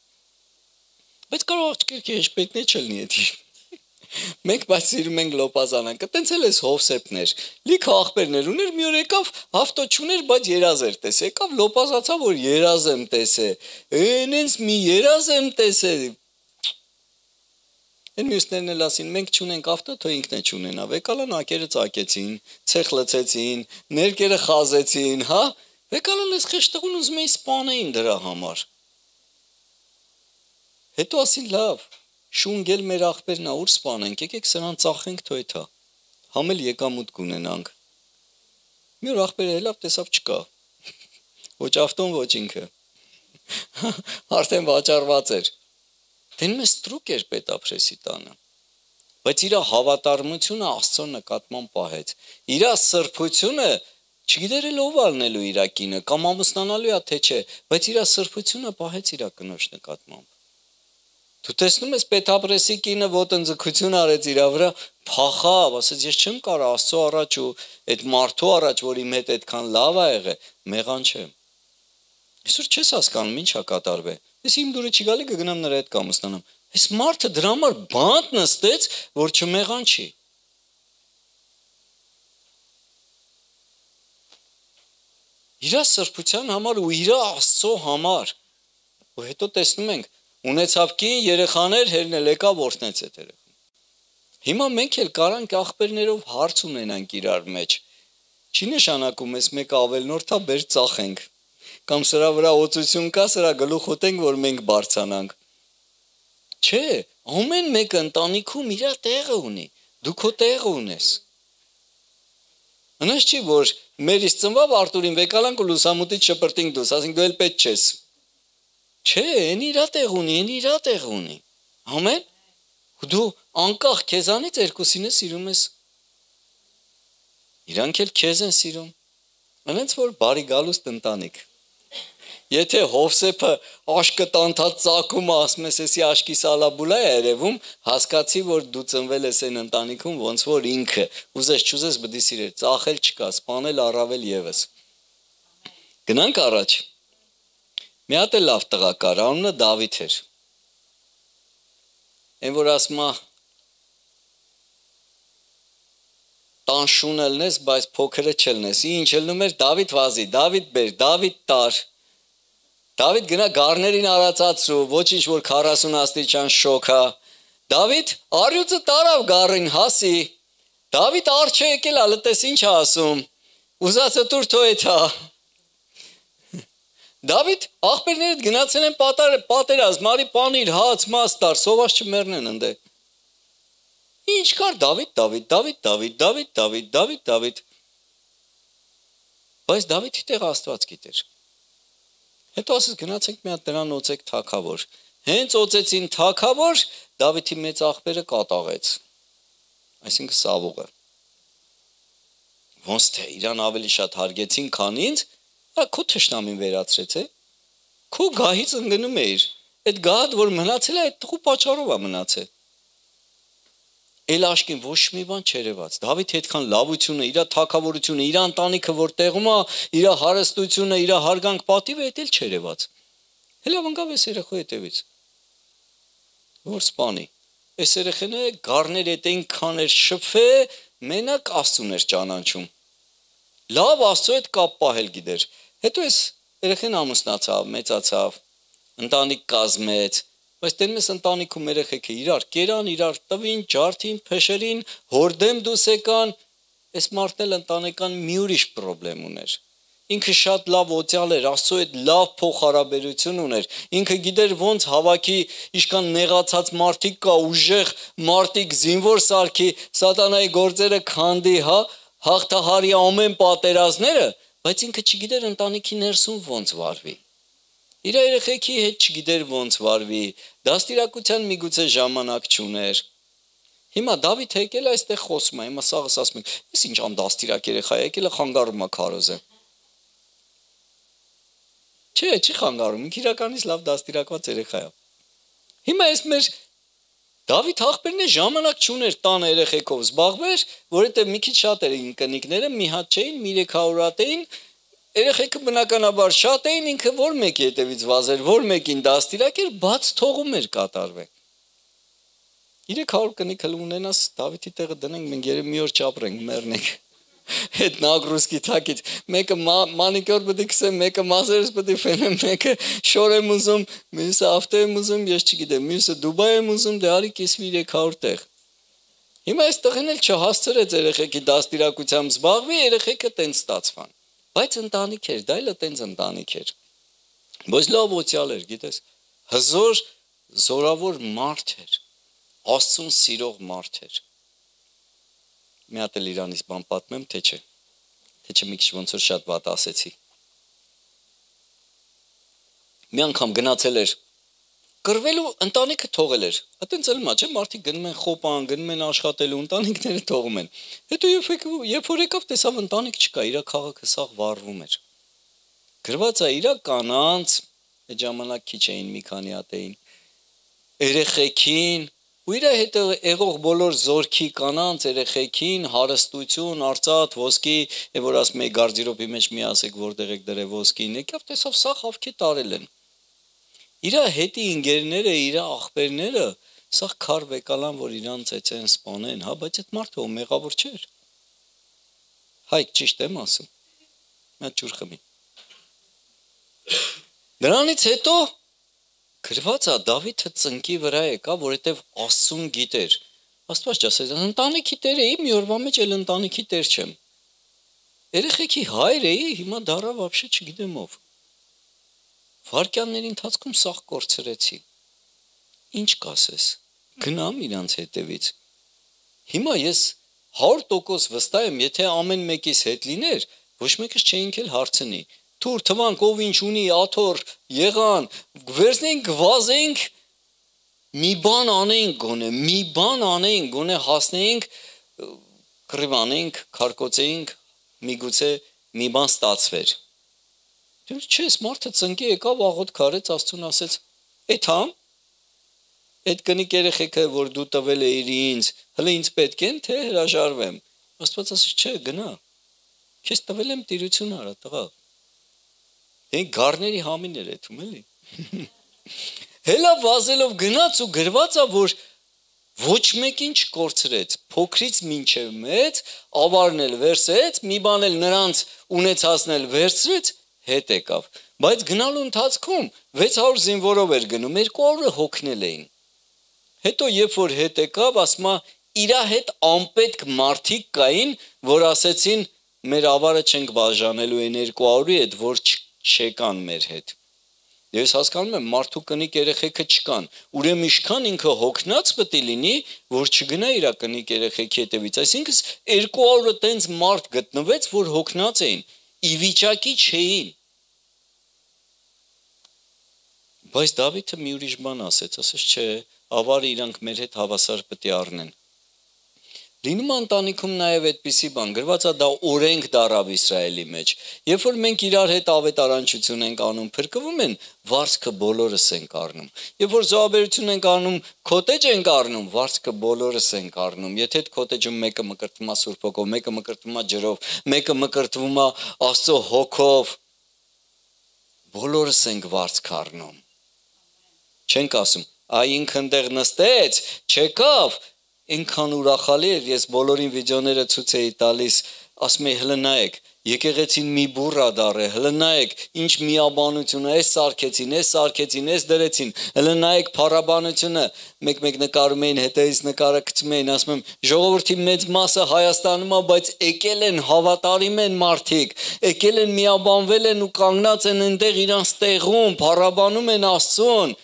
[SPEAKER 1] Բայց կարող աղջիկի հեշտպետն է չլինի էդի։ Մենք բայց սիրում ենք լոպազանանք, տենց էլ էս Հովսեփներ, լիքը աղբերներ ուներ, մի օր եկավ, ավտո չուներ, բայց երազ էր տեսել, եկավ լոպազացավ, որ երազ եմ տեսել, այնց մի երազ եմ տեսել։ Այն մյուսներն էլ ասին, մենք չունենք ավտո, թող ինքն է չունենա, եկալան ակերը ծակեցին, ցեխ լցեցին, ներկերը խազեցին, հա, եկալան էս խեշտղուն ուզում էին սպանեին դրա համար։ Հետո ասին լավ, շունգել մեր աղբերն է, ուր սպանենք, եկեք սրան ծախենք թոյթա, համ էլ եկամուտ կունենանք։ Մի օր աղբերը հելավ տեսավ չկա, ոչ ավտոն, ոչ ինքը, արդեն վաճառված էր, դենում է ստրուկ էր պետապրեսի տանը, բայց իրա հավատարմությունը Աստծո նկատմամբ պահեց, իրա սրբությունը չգիտեր էլ ով ալնելու իրա կինը, կամ ամուսնանալու է թե չէ, բայց իրա սրբությունը պահեց իրա կնոջ նկատմամբ։ Դու տեսնում ես պետապրեսի կինը ոտնձգություն արեց իրա վրա, փախավ, ասեց ես չեմ կարող Աստծո առաջ ու այդ մարդու առաջ, որ իմ հետ այդքան լավ ա եղել, մեղան չեմ։ Այսօր չես հասկանում ինչ ա կատարվել։ Ես իմ դուրը չի գալի կգնամ նրա հետ կամուսնանամ։ Այս մարդը դրա համար բանտ նստեց, որ չմեղան չի։ Իրա սրբության համար ու իրա Աստծո համար։ Ու հետո տեսնում ենք ունեցավ կին երեխաներ, հերն էլ եկավ օրհնեց այդ երեխան։ Հիմա մենք էլ կարանք աղբերներով հարց ունենանք իրար մեջ։ Չի նշանակում ես մեկ ավելնորդա բեր ծախենք։ Կամ սրա վրա օծություն կա, սրա գլուխ ուտենք, որ մենք բարձանանք։ Չէ, ամեն մեկը ընտանիքում իր տեղը ունի։ Դու քո տեղը ունես։ Հնաց չի, որ մերից ծնվավ Արտուրին վեկալանք ու լուսամուտից շպրտինք դուս, ասենք դու էլ պետք չես։ Չէ, այն իր տեղ ունի, այն իր տեղ ունի։ Ամեն։ Դու անկախ քեզանից երկուսինը սիրում ես։ Իրանք էլ քեզ են սիրում։ Այնց որ բարի գալուստ ընտանիք։ Եթե Հովսեփը աշկը տանթած ծակում ասում ես, էսի աշկի սալաբուլա է երևում, հասկացի, որ դու ծնվել ես այն ընտանիքում, ոնց որ ինքը, ուզես չուզես բդի սիրեր, ծախել չկա, սպանել առավել եւս։ Գնանք առաջ։ Մի հատ էլ լավ տղա կար, անունը Դավիթ էր։ Այն որ ասում է տան շունը լնես, բայց փոքրը չլնես։ Ինչ լնում էր Դավիթ վազի, Դավիթ բեր, Դավիթ տար։ Դավիթ գնա գառներին արածացրու, ոչինչ որ 40 աստիճան շոքա։ Դավիթ արյուծը տարավ գառին հասի։ Դավիթ արջ է եկել, ալտես ինչ ասում։ Ուզածը դուր թոյթա։ Դավիթ աղբերներդ գնացել են պատերազմ, մարի պանիր, հաց, մաստար, սոված չմեռնեն ընդե։ Ինչ կար Դավիթ։ Բայց Դավիթի տեղ Աստված գիտեր։ Հետո ասես գնացեք մի հատ նրան օծեք թագավոր։ Հենց օծեցին թագավոր, Դավիթի մեծ աղբերը կատաղեց։ Այսինքն Սավուղը։ Ոնց թե իրան ավելի շատ հարգեցին, քան ինձ, քո թշնամին վերացրեց է։ Քո գահից ընկնում էիր։ Այդ գահդ որ մնացել է, այդ տղու պատճառով է մնացել։ Էլ աշկին ոչ մի բան չերևաց։ Դավիթի այդքան լավությունը, իր թագավորությունը, իր ընտանիքը որ տեղում է, իր հարստությունը, իր հարգանք պատիվը էդ էլ չերևաց։ Հելավ ընկավ այս երեխու հետևից։ Որ սպանի։ Այս երեխեները գառներ հետ այնքան էր շփվե, մենակ Աստծուն էր ճանաչում։ Լավ Աստծո հետ կապ պահել գիտեր։ Հետո այս երեխեն ամուսնացավ, մեծացավ, ընտանիք կազմեց, բայց դեռ մեզ ընտանիքում երեխեքը իրար կերան, իրար տվին, ջարդին, փեշերին, հորդեմ դուս եկան, այս մարդն էլ ընտանեկան մի ուրիշ խնդրեմ ուներ։ Ինքը շատ լավ օծյալ էր, Աստծո հետ լավ փոխհարաբերություն ուներ։ Ինքը գիտեր ոնց հավաքի իշքան նեղացած մարդիկ կա, ուժեղ մարդիկ զինվոր սարքի, սատանայի գործերը քանդի, հաղթահարի ամեն պատերազմները, բայց ինքը չգիտեր ընտանիքի ներսում ոնց վարվի։ Իր երեխեքի հետ չգիտեր ոնց վարվի, դաստիարակության միգուցե ժամանակ չուներ։ Հիմա Դավիթ եկել այստեղ խոսում է, հիմա սաղս ասում եք, ես ինչ անդաստիրակ երեխա եկել է խանգարում է քարոզը։ Չի խանգարում, ինքը իրականից լավ դաստիարակված երեխա է։ Հիմա այս մեր Դավիթ աղբերն է ժամանակ չուներ տան երեխեքով զբաղվեր, որովհետև մի քիչ շատ էին կնիկները, մի հատ չէին, 300 հատ էին, երեխեքը բնականաբար շատ էին, ինքը որ մեկի հետևից վազեր, որ մեկին դաստիարակեր, բաց թողում էր կատարվել։ 300 կնիկ հլ ունենաս Դավիթի տեղը դնենք, մենք երբ մի օր չապրենք, մեռնենք։ Այդ նագրուսկի թակից մեկը մանիկյուր պետք է քսեմ, մեկը մազերս պետք է ֆենեմ, մեկը շոր եմ ուզում, մյուսը ավտո եմ ուզում, ես չգիտեմ, մյուսը Դուբայ եմ ուզում, դե արի կիսվի 300 տեղ։ Հիմա այս տղեն էլ չհասցրեց երեխեքի դաստիարակությամբ զբաղվի, երեխեքը տենց ստացվան։ Բայց ընտանիք էր, դա էլ տենց ընտանիք էր։ Բայց լավ օծյալ էր, գիտես, հզոր, զորավոր մարդ էր, Աստծուն սիրող մարդ էր։ Մի հատ էլ իրանից բան պատմեմ, թե չէ մի քիչ ոնց որ շատ վատ ասեցի։ Մի անգամ գնացել էր կռվելու, ընտանիքը թողել էր։ Այտենց էլ մա չէ, մարդիկ գնում են խոպան, գնում են աշխատելու, ընտանիքները թողում են։ Հետո երբ որ եկավ, տեսավ ընտանիք չկա, իր քաղաքը սաղ վառվում էր։ Գրված է իր կանանց, այդ ժամանակ քիչ էին, մի քանի հատ էին, երեխեքին ու իր հետ եղող բոլոր զորքի կանանց, երեխեքին, հարստություն, արծաթ, ոսկի, որ ասում էի գարդիրոբի մեջ մի ասեք որտեղ եք դրել ոսկին, եկավ տեսավ սա խավքի տարել են։ Իր հետի ինգերները, իր աղբերները, սա քար վեկալան, որ իրան ծեծեն, սպանեն, բայց այդ մարդը ո մեղավոր չէր։ Հայք ճիշտ եմ ասում։ Մի ջուր խմի։ Դրանից հետո գրված է Դավիթը ծնկի վրա եկա, որովհետև Աստծուն գիտեր։ Աստված ասեց, ընտանիքի տեր էի, մի օրվա մեջ էլ ընտանիքի տեր չեմ։ Երեխեքի հայր էի, հիմա դառա вообще չգիտեմ ով։ Վարքյանների ընթացքում սաղ կորցրեցի։ Ինչ կասես։ Գնամ իրանց հետևից։ Հիմա ես 100% վստահ եմ, եթե ամեն մեկիս հետ լիներ, ոչ մեկս չէինք էլ հարցնի։ Թուր թվանք ով ինչ ունի, աթոր, եղան, վերցնենք, վազենք, մի բան անեինք գոնե հասնեինք, կռիվանենք, քարկոծեինք, միգուցե մի բան ստացվեր։ Դու չես, մարդը ծնկի եկավ, աղոտ քարեց, Աստծուն ասեց. «Էթամ, այդ կնիկ երեխեքը, որ դու տվել էիր ինձ, հələ ինձ պետք են, թե հրաժարվեմ»։ Աստված ասեց. «Չէ, գնա։ Քեզ տվել եմ տիրություն արա, տղա»։ Դե գառների համին էր էթում էլի։ Հելա վազելով գնաց ու գրված է, որ ոչ մեկին չկորցրեց, փոքրից մինչև մեծ, ավարն էլ վերցրեց, մի բան էլ նրանց ունեցածն էլ վերցրեց, հետ եկավ, բայց գնալու ընթացքում 600 զինվորով էր գնում, 200-ը հոգնել էին։ Հետո երբ որ հետ եկավ, ասում է իր հետ անպետք մարդիկ կային, որ ասեցին մեր ավարը չենք բաժանելու այն 200-ի հետ, որ չեկան մեր հետ։ Ես հասկանում եմ, մարդու կնիկ երեխեքը չկան, ուրեմն ինչքան ինքը հոգնած պետք է լինի, որ չգնա իր կնիկ երեխեքի հետևից, այսինքն 200-ը տենց մարդ գտնվեց, որ հոգնած էին, ի վիճակի չէին։ Բայց Դավիթը մի ուրիշ բան ասեց, չէ, ավարը իրանք մեր հետ հավասար պետք է առնեն։ Լինում ընտանիքում նաև այդպիսի բան, գրված է դա օրենք դարավ Իսրայելի մեջ։ Երբ որ մենք իրար հետ ավետարանչություն ենք անում, փրկվում են, վարձքը բոլորս ենք առնում։ Երբ որ զոհաբերություն ենք անում, քոտեջ ենք առնում, վարձքը բոլորս ենք առնում։ Եթե այդ քոտեջում մեկը մկրտվում է Սուրբ Հոգով, մեկը մկրտվում է ջրով, մեկը մկրտվում է Աստծո հոգով, բոլորս ենք վարձք առնում։ Չենք ասում, այ ինքը այնտեղ նստեց, չեկավ, ինքան ուրախալի էր, ես բոլորին վիդեոները ցույց էի տալիս, ասում էի հլը նայեք, եկեղեցին մի բուռա դառ է, հլը նայեք, ինչ միաբանությունը, այս սարքեցին, այս դրեցին, հլը նայեք փառաբանությունը, մեկ նկարում էին, հետևից նկարը գցում էին, ասում եմ, ժողովրդի մեծ մասը Հայաստանում է, բայց եկել են, հավատարիմ են մարդիկ, եկել են, միաբանվել են ու կանգնած են այնտեղ իրանց տեղում, փառաբանում են Աստծուն։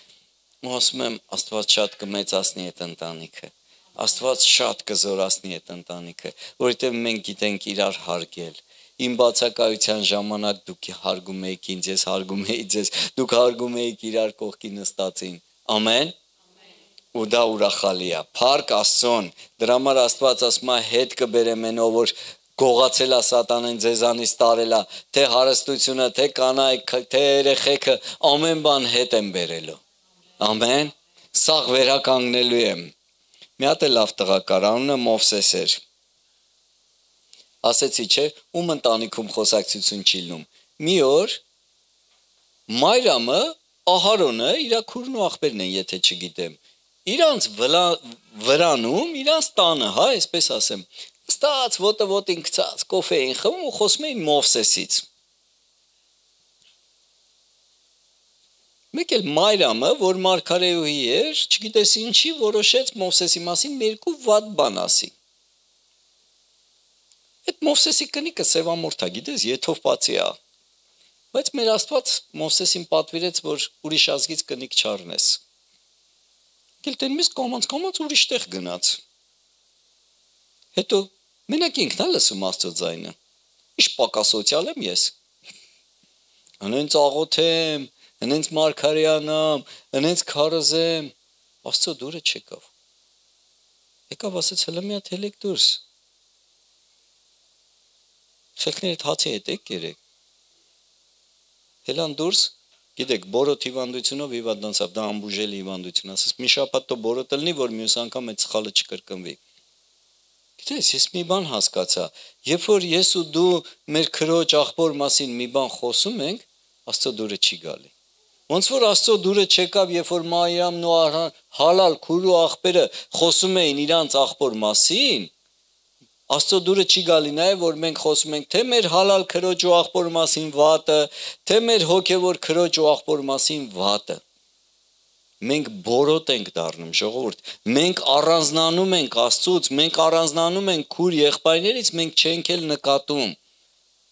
[SPEAKER 1] Ու ասում եմ, Աստված շատ կմեծացնի այդ ընտանիքը, Աստված շատ կզորացնի այդ ընտանիքը, որովհետև մենք գիտենք իրար հարգել։ Իմ բացակայության ժամանակ դուք հարգում եք ինձ, ես հարգում էի ձեզ, դուք հարգում եք իրար կողքի նստածին։ Ամեն։ Ու դա ուրախալի է։ Փառք Աստծուն։ Դրա համար Աստված ասում է հետ կբերեմ այն, որ գողացել է սատանեն ձեզանից տարել է, թե հարստությունը, թե կանայք, թե երեխեքը, ամեն բան հետ եմ բերելու։ Ամեն։ Սաղ վերականգնելու եմ։ Մի հատ է լավ տղա կար, անունը Մովսես էր։ Ասեցի, չէ, ում ընտանիքում խոսակցություն չի լինում։ Մի օր Մայրամը, Ահարոնը, իր քուրն ու աղբերն են, եթե չգիտեմ, իրանց վրանում, իրանց տանը, հա, այսպես ասեմ, ստաց ոտին գցած, կոֆե էին խմում ու խոսում էին Մովսեսից։ Մեկ էլ Մայրամը, որ մարգարեուհի էր, չգիտես ինչի, որոշեց Մովսեսի մասին երկու վատ բան ասի։ Այդ Մովսեսի կնիկը սևամորթ է, գիտես, եթովպացի է։ Բայց մեր Աստված Մովսեսին պատվիրեց, որ ուրիշ ազգից կնիկ չառնես։ Գել տենմից կոմանց ուրիշ տեղ գնաց։ Հետո մենակ ինքն է լսում Աստծո ձայնը։ Ինչ պակասոցիալ եմ ես։ Անենց աղոթեմ, հենց մարգարեանամ, հենց քարոզեմ, Աստծո դուրը չեկավ։ Եկավ ասեց հլը մի հատ հելեք դուրս։ Խելքներդ հացի հետ եք երեք։ Հելան դուրս, գիտեք, բորոտ հիվանդությունով հիվանդանցավ, դա ամբուժելի հիվանդություն, ասես մի շաբաթ տո բորոտ լինի, որ մյուս անգամ այդ սխալը չկրկնվի։ Գիտես, ես մի բան հասկացա, երբ որ ես ու դու մեր քրոջ աղբոր մասին մի բան խոսում ենք, Աստծո դուրը չի գալի։ Ոնց որ Աստծո դուրը չեկավ, երբ որ Մարիամն ու Հալալ քուրու աղբերը խոսում էին իրանց աղբոր մասին, Աստծո դուրը չի գալի նաև, որ մենք խոսում ենք թե մեր հալալ քրոջ ու աղբոր մասին վատը, թե մեր հոգևոր քրոջ ու աղբոր մասին վատը։ Մենք բորոտ ենք դառնում, ժողովուրդ, մենք առանձնանում ենք Աստծուց, մենք առանձնանում ենք քուր եղբայրներից, մենք չենք էլ նկատում։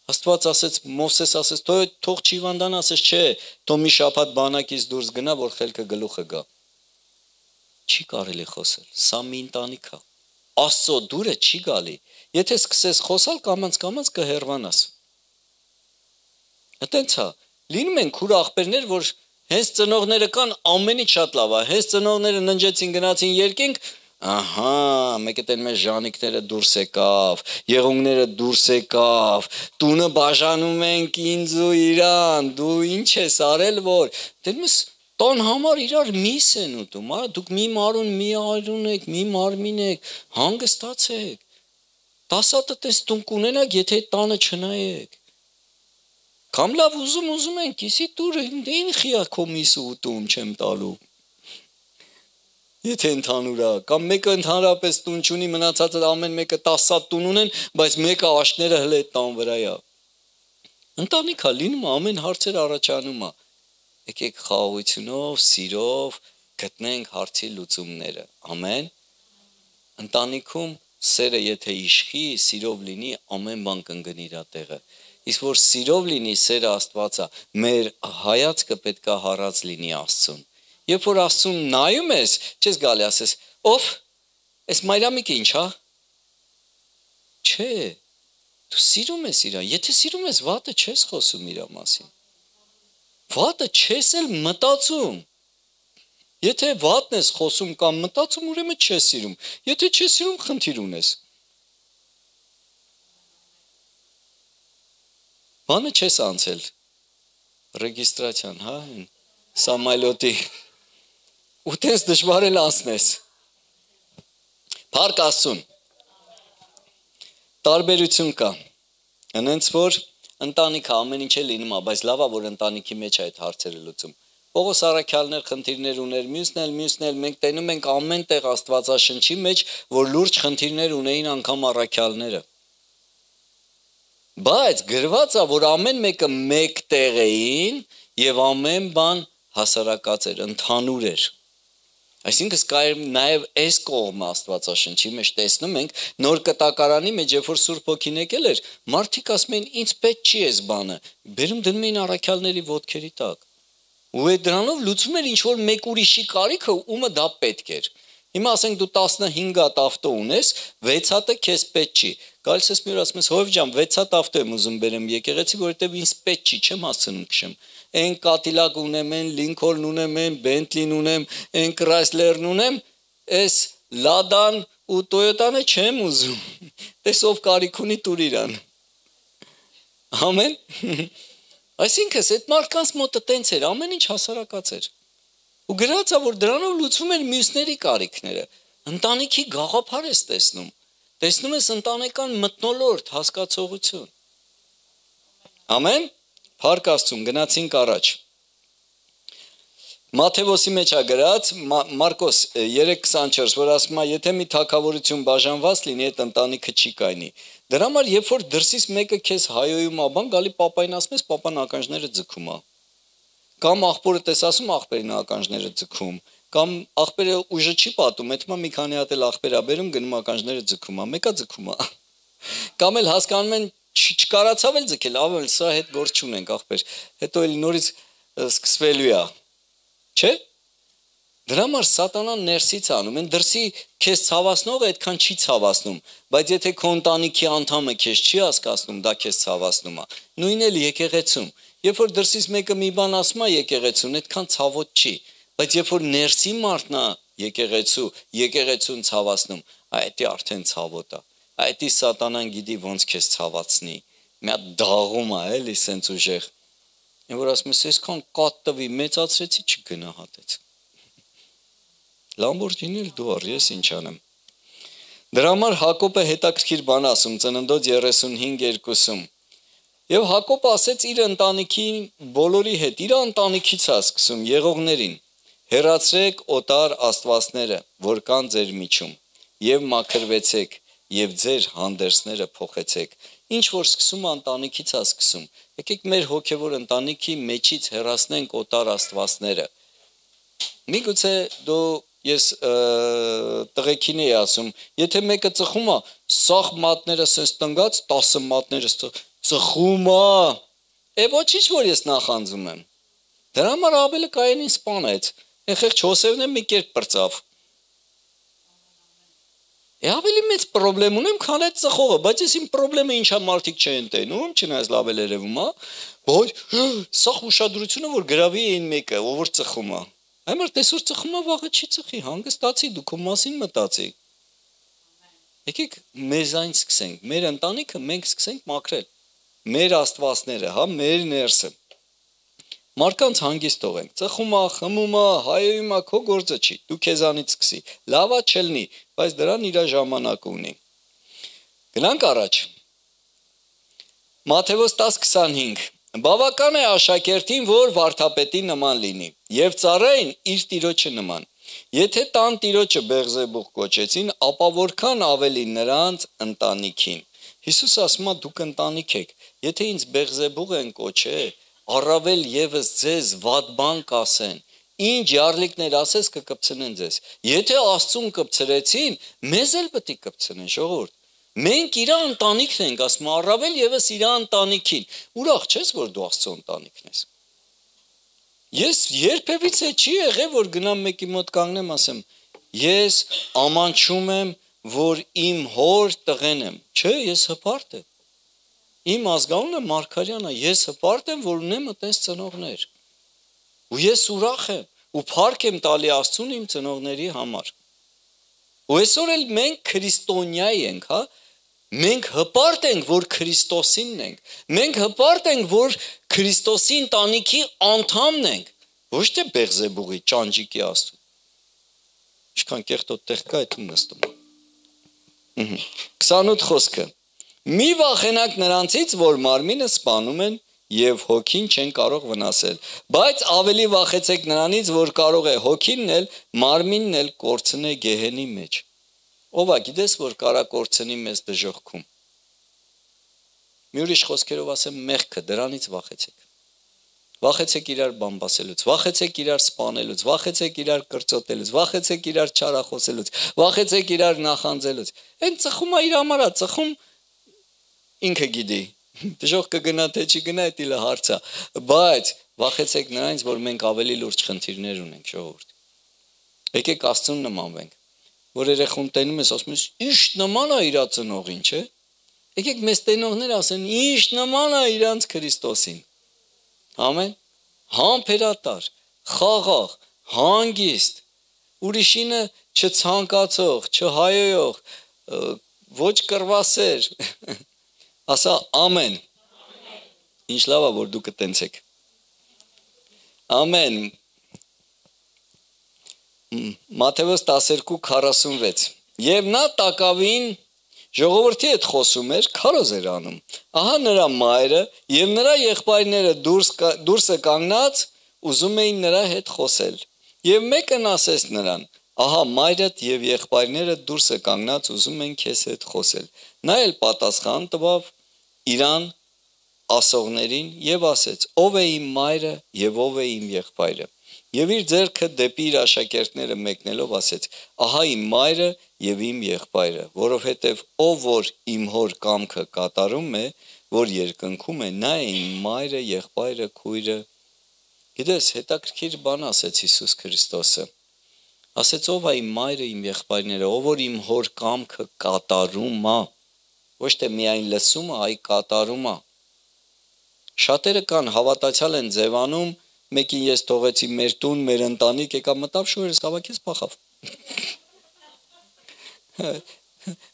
[SPEAKER 1] Աստված ասեց, Մովսես ասեց, թող չիվանդան, ասեց, չէ, թող մի շաբաթ բանակից դուրս գնա, որ խելքը գլուխը գա։ Չի կարելի խոսել, սա մի ընտանիք է։ Աստծո դուրը չի գալի։ Եթե սկսես խոսալ, կամած կհեռվանաս։ Այդտենց է, լինում են քուր աղբերներ, որ հենց ծնողները կան, ամենից շատ լավ է, հենց ծնողները ննջեցին, գնացին երկինք, ահա, մեկ էլ մեր ժանիկները դուրս եկավ, եղունգները դուրս եկավ, տունը բաժանում ենք ինձ ու իրան, դու ինչ ես արել, որ դերմս տան համար իրար միս են ուտում, դուք մի մարուն, մի արուն եք, մի մարմին եք, հանգստացեք, տասատը տես տուն կունենակ, եթե տանը չնայեք, կամ լավ ուզում են, կիսի տուր, ինչ խիա քո միսը ուտում չեմ տալու, եթե ընդհանուր է, կամ մեկը ընդհանրապես տուն չունի, մնացածը ամեն մեկը 10 տուն ունեն, բայց մեկը աշները հլը այդ տան վրա է։ Ընտանիքա լինում ամեն հարցեր առաջանում է։ Եկեք խաղաղությունով, սիրով գտնենք հարցի լուծումները։ Ամեն։ Ընտանիքում սերը եթե իշխի, սիրով լինի, ամեն բան կընկնի իր տեղը։ Իսկ որ սիրով լինի, սերը Աստվածա, մեր հայացքը պետք է հառած լինի Աստծուն։ Երբ որ Աստծուն նայում ես, չես գալի ասես, ով, այս Մարիամիկը ինչ է։ Չէ, դու սիրում ես իրան, եթե սիրում ես, վատը չես խոսում իր մասին։ Վատը չես էլ մտածում։ Եթե վատն ես խոսում կամ մտածում, ուրեմն չես սիրում։ Եթե չես սիրում, խնդիր ունես։ Բանը չես անցել, ռեգիստրացիան, հա, Սամայլոտի, ու տես դժվար էլ անցնես, փառք Աստծուն, տարբերություն կա, ընենց որ ընտանիքը ամեն ինչ է լինում, բայց լավ է, որ ընտանիքի մեջ այդ հարցերը լուծում, Պողոս առաքյալներ խնդիրներ ուներ, մյուսն էլ մենք տենում ենք ամեն տեղ Աստվածաշնչի մեջ, որ լուրջ խնդիրներ ունեին անգամ առաքյալները Բայց գրված է, որ ամեն մեկը մեկ տեղ էին եւ ամեն բան հասարակած էր, ընդհանուր էր։ Այսինքն կա նաեւ այս կողմը Աստվածաշնչի մեջ տեսնում ենք նոր կտակարանի մեջ, երբ որ Սուրբ Հոգին եկել էր, մարդիկ ասում էին, ինձ պետք չի այս բանը։ Բերում դնում էին առաքյալների ոտքերի տակ։ Ու այդ դրանով լուծում էր ինչ որ մեկ ուրիշի կարիքը, ումը դա պետք էր։ Հիմա ասենք դու 15 հատ ավտո ունես, 6 հատը քեզ պետք չի։ Գալիս ես մի օր ասում ես, հովիվ ջան, 6 հատ ավտո եմ ուզում բերեմ եկեղեցի, որովհետև ինձ պետք չի, չեմ հասցնում քշեմ։ Այն Կատիլակ ունեմ, այն Լինքոլն ունեմ, այն Բենտլին ունեմ, այն Քրայսլերն ունեմ, այս Լադան ու Տոյոտանը չեմ ուզում։ Տես ով կարիք ունի տուր իրան։ Ամեն։ Այսինքն այդ մարդկանց մոտը տենց էր, ամեն ինչ հասարակած էր։ Ու գրած է, որ դրանով լուծվում էր մյուսների կարիքները։ Ընտանիքի գաղափար ես տեսնում։ Տեսնում ես ընտանեկան մթնոլորտ, հասկացողություն։ Ամեն։ Փառք Աստծուն, գնացինք առաջ։ Մատթեոսի մեջ է գրած Մարկոս 3:24, որ ասում է, եթե մի թագավորություն բաժանված լինի, այդ ընտանիքը չի կայնի։ Դրա համար երբ որ դրսից մեկը քեզ հայոյում է, բան գալի պապային ասում ես, պապան ականջները ձգում է։ Կամ աղբորը տես ասում աղբերին ականջները ձգում, կամ աղբերը ուժը չի պատում, հետո մի քանի հատ էլ աղբերա բերում գնում ականջները ձգում է, մեկը ձգում է։ Կամ էլ հասկանում են չկարացավ էլ ձգել, ավել սա հետ գործ չունենք աղբեր, հետո էլ նորից սկսվելու է։ Չէ՞։ Դրա համար սատանան ներսից անում, են դրսի քեզ ցավացնողը այդքան չի ցավացնում, բայց եթե քո ընտանիքի անդամը քեզ չի հասկացնում, դա քեզ ցավացնում է։ Նույնն էլ եկեղեցում։ Երբ որ դրսից մեկը մի բան ասում է եկեղեցուն, այդքան ցավոտ չի, բայց երբ որ ներսի մարդն է եկեղեցուն ցավացնում, այդի արդեն ցավոտ է։ Այդի սատանան գիտի ոնց քեզ ցավացնի։ Մի հատ դաղում է, էլի սենց ուժեղ։ Այն որ ասում ես, այսքան կատ տվի, մեծացրեցի, չգնահատեց։ Լամբորջինի դու առ ես ինչ անեմ։ Դրա համար Հակոբը հետաքրքիր բան ասում Ծննդոց 35:2-ում։ Եվ Հակոբը ասեց իր ընտանիքի բոլորի հետ, իր ընտանիքից է սկսում եղողներին. հեռացրեք օտար աստվածները, որ կան ձեր միջում, եւ մաքրվեցեք, եւ ձեր հանդերձները փոխեցեք։ Ինչ որ սկսում ընտանիքից է սկսում։ Եկեք մեր հոգևոր ընտանիքի մեջից հեռացնենք օտար աստվածները։ Միգուցե դու ես տղեկին էի ասում, եթե մեկը ծխում է, սաղ մատները սենց տնգած, 10 մատները ծխում է, ոչինչ որ ես նախանձում եմ։ Դրա համար Աբելը Կայենին սպանեց, այն խեղճ Հոսևն մի կերպ պրծավ։ Ավելի մեծ պրոբլեմ ունեմ, քան այդ ծխողը, բայց ես իմ պրոբլեմը ինչա մարդիկ չեն տենում, չնայած լավ էլ երևում է, որ սաղ ուշադրությունը որ գրավի այն մեկը, ով որ ծխում է։ Այմար տեսօր ծխում է, վաղը չի ծխի, հանգստացի, դու քո մասին մտածի։ Եկեք մեզանից սկսենք, մեր ընտանիքը մենք սկսենք մաքրել։ Մեր աստվածները, հա, մեր ներսը։ Մարդկանց հանգիստ թողենք, ծխում է, խմում է, հայոյում է, քո գործը չի, դու քեզանից սկսի։ Լավա չլինի, բայց դրան իր ժամանակը ունի։ Գնանք առաջ։ Մատթեոս 10:25 Բավական է աշակերտին, որ վարդապետի նման լինի, եւ ծառային իր տիրոջը նման։ Եթե տան տիրոջը Բեղզեբուղ կոչեցին, ապա որքան ավելի նրանց ընտանիքին։ Հիսուս ասում է դուք ընտանիք եք, Եթե ինձ Բեղզեբուղ են կոչել, առավել եւս ձեզ վատ բան կասեն, ինչ յարլիկներ ասես կկպցնեն ձեզ։ Եթե Աստծուն կպցրեցին, մեզ էլ պետք է կպցնեն, ժողովուրդ։ Մենք իր ընտանիքն ենք, ասում առավել եւս իր ընտանիքին։ Ուրախ չես, որ դու Աստծո ընտանիքն ես։ Ես երբևիցե չի եղել, որ գնամ մեկի մոտ կանգնեմ, ասեմ, ես ամանչում եմ, որ իմ հոր տղեն եմ։ Չէ, ես հպարտ եմ։ Իմ ազգանունը Մարգարյանն է, ես հպարտ եմ, որ ունեմ այդպես ծնողներ։ Ու ես ուրախ եմ, ու փառք եմ տալի Աստծուն իմ ծնողների համար։ Ու այսօր էլ մենք քրիստոնյա ենք, հա։ Մենք հպարտ ենք, որ Քրիստոսինն ենք։ Մենք հպարտ ենք, որ Քրիստոսի ընտանիքի անդամն ենք։ Ոչ թե Բեղզեբուղի, Ճանճիկի Աստծո։ Ինչքան կեղտոտ տեղ կա, այդ նստում։ 28 խոսքը։ Մի վախենակ նրանցից, որ մարմինը սպանում են եւ հոգին չեն կարող վնասել, բայց ավելի վախեցեք նրանից, որ կարող է հոգինն էլ, մարմինն էլ կորցնել գեհենի մեջ։ Ով է գիտես, որ կարա կորցնի մեզ դժոխքում։ Մի ուրիշ խոսքերով ասեմ, մեղքը, դրանից վախեցեք։ Վախեցեք իրար բամբասելուց, վախեցեք իրար սպանելուց, վախեցեք իրար կրծոտելուց, վախեցեք իրար չարախոսելուց, վախեցեք իրար նախանձելուց։ Այն ծխումա իր համար է, ծխում ինքը գիտի։ Դժոխք կգնա թե չի գնա, դա իլը հարց է, բայց վախեցեք նրանից, որ մենք ավելի լուրջ խնդիրներ ունենք, ժողովուրդ։ Եկեք Աստծուն նմանվենք, որ երեխուն տենում ես, ասում ես, ինչ նման է իր ծնողին, չէ։ Եկեք մեզ տենողներ ասեն, ինչ նման է իրանց Քրիստոսին։ Ամեն, համբերատար, խաղաղ, հանգիստ, ուրիշինը չցանկացող, չհայոյող, ոչ կռվասեր, ասա ամեն, ինչ լավ է, որ դու կտենցեք, ամեն, Մատթեոս 12:46, և նա տակավին ժողովրդի հետ խոսում էր, քարոզ էր անում, ահա նրա մայրը և նրա եղբայրները դուրսը կանգնած ուզում էին նրա հետ խոսել, և մեկն ասեց նրան, ահա մայրդ և եղբայրները դուրսը կանգնած ուզում են քեզ հետ խոսել, նա էլ պատասխան տվավ իրան ասողներին և ասեց, ով է իմ մայրը և ով է իմ եղբայրը, և իր ձեռքը դեպի իր աշակերտները մեկնելով ասեց, ահա իմ մայրը և իմ եղբայրը, որովհետև ով որ իմ հոր կամքը կատարում է, որ երկնքում է, նա է իմ մայրը, եղբայրը, քույրը։ Գիտես, հետաքրքիր բան ասեց Հիսուս Քրիստոսը։ Ասեց ով է իմ մայրը, իմ եղբայրները, ով որ իմ հոր կամքը կատարում է, ոչ թե միայն լսում է, այլ կատարում է։ Շատերը կան հավատացյալ են ձևանում, մեկին ես թողեցի մեր տուն, մեր ընտանիք, եկա մտավ շուրս հավաքեց փախավ։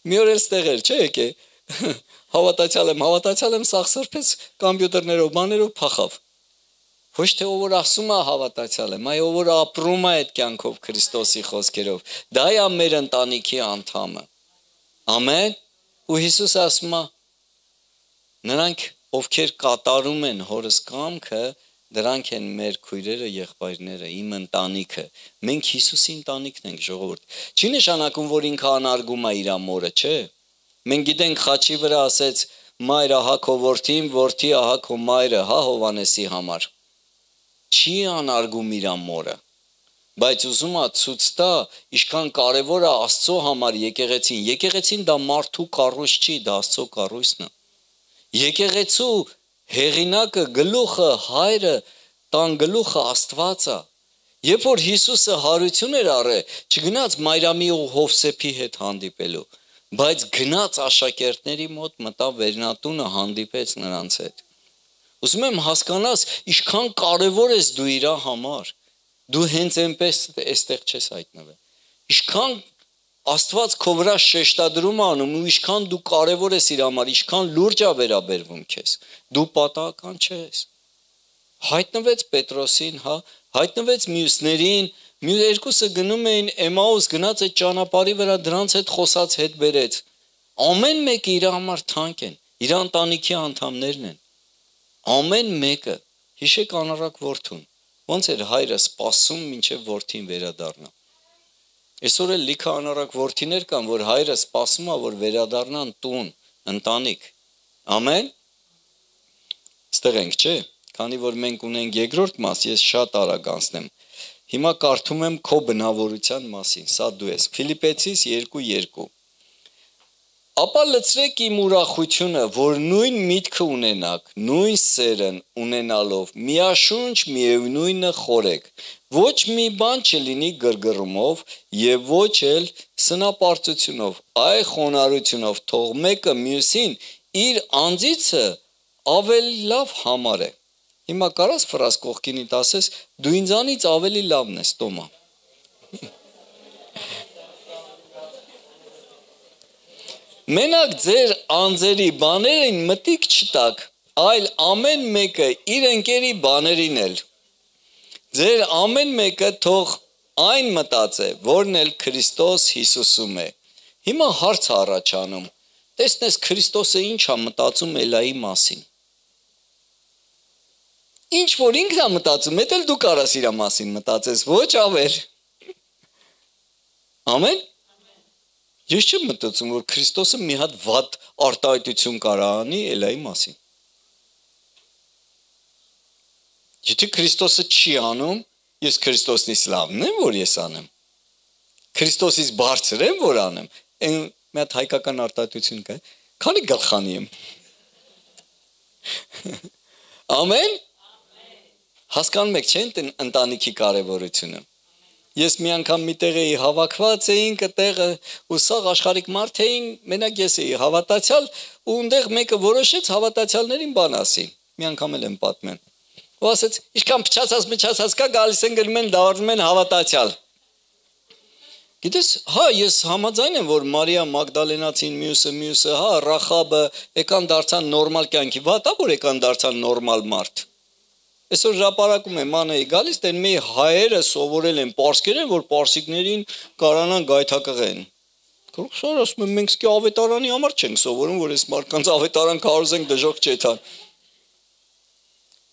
[SPEAKER 1] Մի օր էլ ստեղ էր, չէ՞ եկե։ Հավատացյալ եմ, սաղ սրբեց կոմպյուտերներով, բաներով փախավ։ Ոչ թե ով որ ասում է հավատացյալ եմ, այլ ով որ ապրում է այդ կյանքով Քրիստոսի խոսքերով։ Դա է մեր ընտանիքի անդամը։ Ամեն։ Ու Հիսուսը ասում է նրանք ովքեր կատարում են հորս կամքը, դրանք են մեր քույրերը, եղբայրները, իմ ընտանիքը։ Մենք Հիսուսի ընտանիքն ենք, ժողովուրդ։ Չի նշանակում, որ ինքը անարգում է իր մորը, չէ։ Մենք գիտենք խաչի վրա ասեց մայր ահա քո որդին, որդի ահա քո մայրը, հա Հովանեսի համար։ Չի անարգում իր մորը։ Բայց ուզում է ցույց տա, ինչքան կարևոր է Աստծո համար եկեղեցին։ Եկեղեցին դա մարդու կառույց չի, դա Աստծո կառույցն է։ Եկեղեցու հեղինակը, գլուխը, հայրը, տան գլուխը Աստված է։ Երբ որ Հիսուսը հարություն էր առել, չգնաց Մարիամի ու Հովսեփի հետ հանդիպելու, բայց գնաց աշակերտների մոտ, մտավ վերնատունը, հանդիպեց նրանց հետ։ Ուզում եմ հասկանաս, ինչքան կարևոր ես դու իր համար։ Դու հենց այնպես այստեղ չես հայտնվել։ Ինչքան Աստված քո վրա շեշտադրում է անում ու ինչքան դու կարևոր ես իր համար, ինչքան լուրջ է վերաբերվում քեզ։ Դու պատահական չես։ Հայտնվեց Պետրոսին, հա, հայտնվեց մյուսներին, երկուսը գնում էին Էմաուս, գնաց այդ ճանապարհի վրա դրանց հետ խոսած հետ բերեց։ Ամեն մեկը իր համար թանկ են, իր ընտանիքի անդամներն են։ Ամեն մեկը, հիշեք անառակ որդուն, ոնց էր հայրը սպասում մինչև որդին վերադառնա։ Այսօր էլ լիքը անառակ որդիներ կան, որ հայրը սպասում է, որ վերադառնան տուն, ընտանիք։ Ամեն։ Այստեղ ենք, չէ՞։ Քանի որ մենք ունենք երկրորդ մաս, ես շատ արագ անցնեմ։ Հիմա կարդում եմ քո բնավորության մասին, սա դու ես։ Ֆիլիպեցիս 2:2 Ապա լցրեք իմ ուրախությունը, որ նույն միտքը ունենաք, նույն սերն ունենալով, միաշունչ միևնույնը խորեք, ոչ մի բան չլինի գրգռումով և ոչ էլ սնապարծությունով, այ խոնարհությունով, թող մեկը մյուսին իր անձիցը ավելի լավ համարե։ Հիմա կարաս ֆրազ կողքինիդ ասես, դու ինձանից ավելի լավն ես, Տոմա։ Մենակ ձեր անձերի բաներին մտիկ չտաք, այլ ամեն մեկը իր ընկերի բաներին էլ։ Ձեր ամեն մեկը թող այն մտածե, որն էլ Քրիստոս Հիսուսում է։ Հիմա հարց է առաջանում, տեսնես Քրիստոսը ինչ է մտածում Էլայի մասին։ Ինչ որ ինքն է մտածում, դա էլ դու կարաս իր մասին մտածես, ոչ ավել։ Ամեն։ Ես չեմ մտածում, որ Քրիստոսը մի հատ վատ արտահայտություն կարա անի Էլայի մասին։ Եթե Քրիստոսը չի անում, ես Քրիստոսնից լավն եմ, որ ես անեմ։ Քրիստոսից բարձր եմ, որ անեմ։ Այն մի հատ հայկական արտահայտություն կա։ Քանի գլխանի եմ։ Ամեն։ Հասկանում եք, չէ՞, ընտանիքի կարևորությունը։ Ես մի անգամ մի տեղ էի հավաքված էինք այդտեղը ու սաղ աշխարհիկ մարդ էին, մենակ ես էի հավատացյալ ու այնտեղ մեկը որոշեց հավատացյալներին բան ասի։ Մի անգամ էլ եմ պատմել։ Ու ասեց, ինչքան փչացած կա, գալիս են գրում են դառնում են հավատացյալ։ Գիտես, հա, ես համաձայն եմ, որ Մարիա Մագդալենացին, մյուսը, հա, Ռախաբը եկան դարձան նորմալ կյանքի, վատա որ եկան դարձան նորմալ մարդ։ Այսօր հրապարակում է մանեի գալիս, դեն մի հայերը սովորել են պարսկերեն, որ պարսիկներին կարանան գայթակղեն։ Սար ասում եմ, մենք սկի ավետարանի համար չենք սովորում, որ այս մարդկանց ավետարան կարոզենք դժոխք չեթան։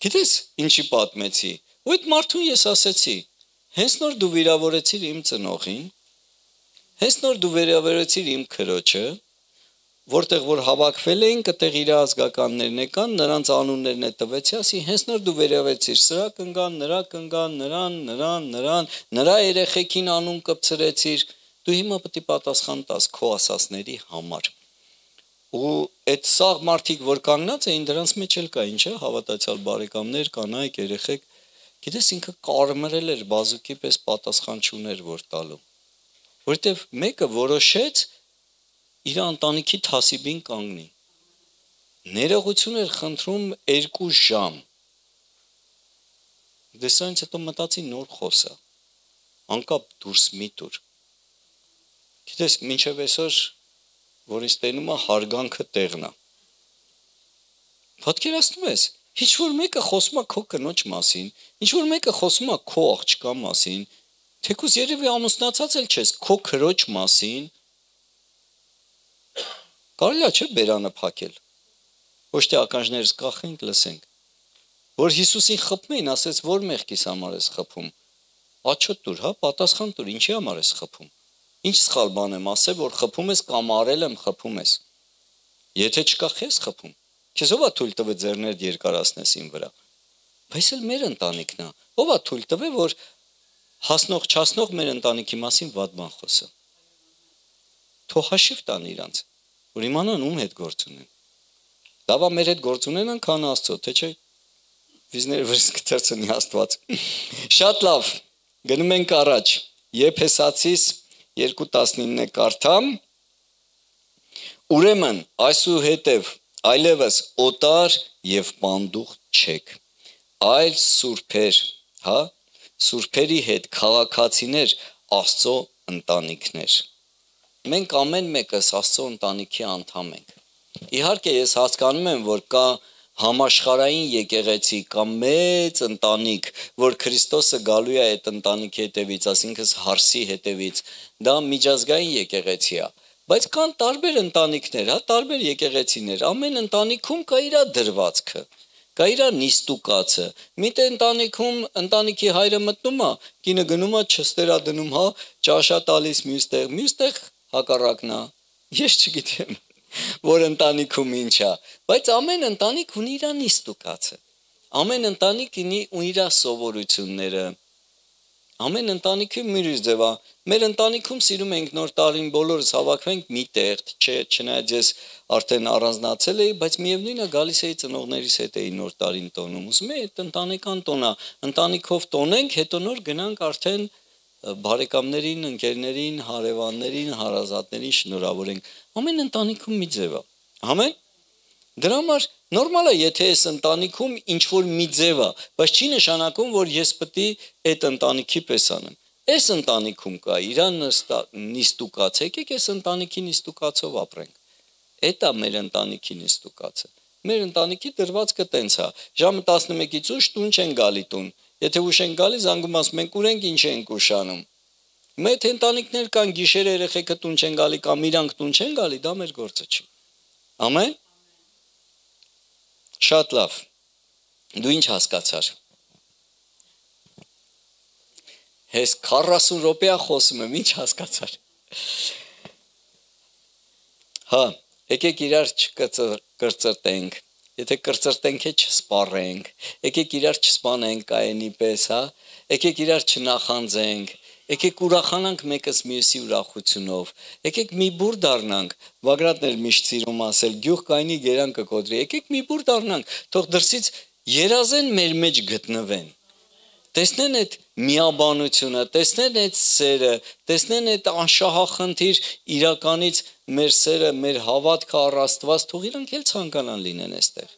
[SPEAKER 1] Գիտես, ինչի պատմեցի։ Ու այդ մարդուն ես ասեցի, հենց նոր դու վիրավորեցիր իմ ծնողին, հենց նոր դու վիրավորեցիր իմ քրոջը, որտեղ որ հավաքվել էին, կտեղ իր ազգականներն եկան, նրանց անուններն է տվեցի, ասի, հենց նոր դու վերավեցիր, սրա կնգան, նրան, նրա երեխեքին անուն կպցրեցիր, դու հիմա պետք է պատասխան տաս քո ասասների համար։ Ու այդ սաղ մարդիկ, որ կանգնած էին, դրանց մեջ էլ կային, չէ, հավատացյալ բարեկամներ, կանայք, երեխեք, գիտես ինքը կարմրել էր, բազուկի պես պատասխան չուներ որ տալու։ Որտեվ մեկը որոշեց իր ընտանիքի թասիբին կանգնի։ Ներողություն էր խնդրում 2 ժամ։ Դեսանից հետո մտածի նոր խոսա։ Անկապ դուրս մի տուր։ Գիտես, մինչև այսօր, որ ինձ տենում է հարգանքը տեղն է։ Պատկերացնում ես, ինչ որ մեկը խոսում է քո կնոջ մասին, ինչ որ մեկը խոսում է քո աղջկա մասին, թեկուզ երևի ամուսնացած էլ չես, քո քրոջ մասին, կարելի է չէ բերանը փակել։ Ոչ թե ականջներս կախենք, լսենք։ Որ Հիսուսին խփում էին, ասեց, որ մեղքիս համար ես խփում։ Աչոտ տուր, հա, պատասխան տուր, ինչի համար ես խփում։ Ինչ սխալ բան եմ ասել, որ խփում ես կամ արել եմ, խփում ես։ Եթե չկա, խես խփում։ Քեզ ով է թույլ տվել ձեռներդ երկարացնես իմ վրա։ Բայց էլ մեր ընտանիքն է։ Ով է թույլ տվել, որ հասնող չասնող մեր ընտանիքի մասին վատ բան խոսը։ Թող հաշիվ տան իրանց, որ իմանան ում հետ գործ ունեն։ Լավա մեր հետ գործ ունենան, քան Աստծո, թե չէ վիզները վրս կթերցնի Աստված։ Շատ լավ, գնում ենք առաջ։ Եփեսացիս 2:19-ը կարդամ։ Ուրեմն այսուհետև այլևս օտար եւ պանդուխ չեք, այլ սուրբեր, հա, սուրբերի հետ քաղաքացիներ, Աստծո ընտանիքներ։ Մենք ամեն մեկս Աստծո ընտանիքի անդամ ենք։ Իհարկե ես հասկանում եմ, որ կա համաշխարհային եկեղեցի կամ մեծ ընտանիք, որ Քրիստոսը գալու է այդ ընտանիքի հետևից, ասինքն հարսի հետևից, դա միջազգային եկեղեցի է, բայց կան տարբեր ընտանիքներ, հա, տարբեր եկեղեցիներ, ամեն ընտանիքում կա իր դրվածքը, կա իր նիստուկացը, միտը ընտանիքում ընտանիքի հայրը մտնում է, կինը գնում է չստերա դնում, հա, ճաշա տալիս մյուստեղ հակառակն է, ես չգիտեմ, որ ընտանիքում ինչ է, բայց ամեն ընտանիք ունի իր նիստուկացը։ Ամեն ընտանիք ունի իր սովորությունները։ Ամեն ընտանիքի մի ձև է։ Մեր ընտանիքում սիրում ենք նոր տարին բոլորս հավաքվենք մի տեղ, չնայած ես արդեն առանձնացել էի, բայց միևնույնն է գալիս էի ծնողներիս հետ էի նոր տարին տոնում։ Ուզում եմ այդ ընտանեկան տոնը, ընտանիքով տոնենք, հետո նոր գնանք արդեն բարեկամներին, ընկերներին, հարևաններին, հարազատներին շնորհավորենք։ Ամեն ընտանիքում մի ձև է։ Ամեն դրա համար նորմալ է, եթե այս ընտանիքում ինչ որ մի ձև է, բայց չի նշանակում, որ ես պետք է այդ ընտանիքի պես անեմ։ Այս ընտանիքում կա իր նիստուկաց, եկեք այս ընտանիքի նիստուկացով ապրենք։ Այդ է մեր ընտանիքի նիստուկացը։ Մեր ընտանիքի դրվածքը տենց է։ Ժամը 11-ից ուշ տուն չեն գալի տուն։ Եթե ուշ են գալի, զանգում ասում ենք ուրենք ինչ ենք ուշանում։ Մեր ընտանիքներ կան գիշերը երեխեքը տուն չեն գալի կամ իրանք տուն չեն գալի, դա մեր գործը չի։ Ամեն։ Շատ լավ։ Դու ինչ հասկացար։ Հես 40 րոպեա խոսում եմ, ինչ հասկացար։ Հա, եկեք իրար չկրծրտենք։ Եթե կրծրտենք է չսպառենք, եկեք իրար չսպանենք կայենի պես, հա։ Եկեք իրար չնախանձենք։ Եկեք ուրախանանք մեկս մյուսի ուրախությունով։ Եկեք մի բուր դառնանք։ Բագրատն էր միշտ սիրում ասել, գյուղ կայնի գերան կկոտրի։ Եկեք մի բուր դառնանք, թող դրսից երազեն մեր մեջ գտնվեն։ Տեսնեն այդ միաբանությունը, տեսնեն այդ սերը, տեսնեն այդ անշահախնդիր իրականից մեր սերը, մեր հավատքը առ Աստված, թող իրանք էլ ցանկանան լինեն այստեղ։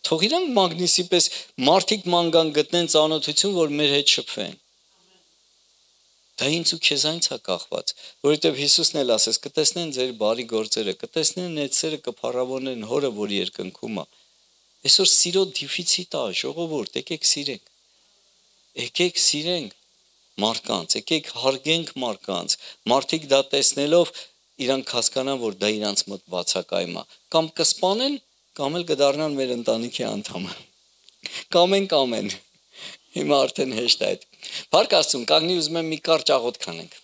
[SPEAKER 1] Թող իրանք մագնիսի պես մարդիկ ման գտնեն ծանոթություն, որ մեր հետ շփվեն։ Դա ինձ ու քեզանից է կախված, որովհետև Հիսուսն էլ ասես, կտեսնեն ձեր բարի գործերը, կտեսնեն այդ սերը, կփառավորեն Հորը, որ երկնքում է։ Այսօր սիրո դիֆիցիտ է, ժողովուրդ, եկեք սիրենք։ Եկեք սիրենք մարդկանց, եկեք հարգենք մարդկանց, մարդիկ դա տեսնելով իրանք հասկանան, որ դա իրանց մոտ բացակայում է, կամ կսպանեն, կամ էլ կդառնան մեր ընտանիքի անդամը, կամեն, հիմա արդեն հեշտ է այդ, Փառք Աստծուն, կանգնի ուզում եմ մի կարճ աղոթք անենք։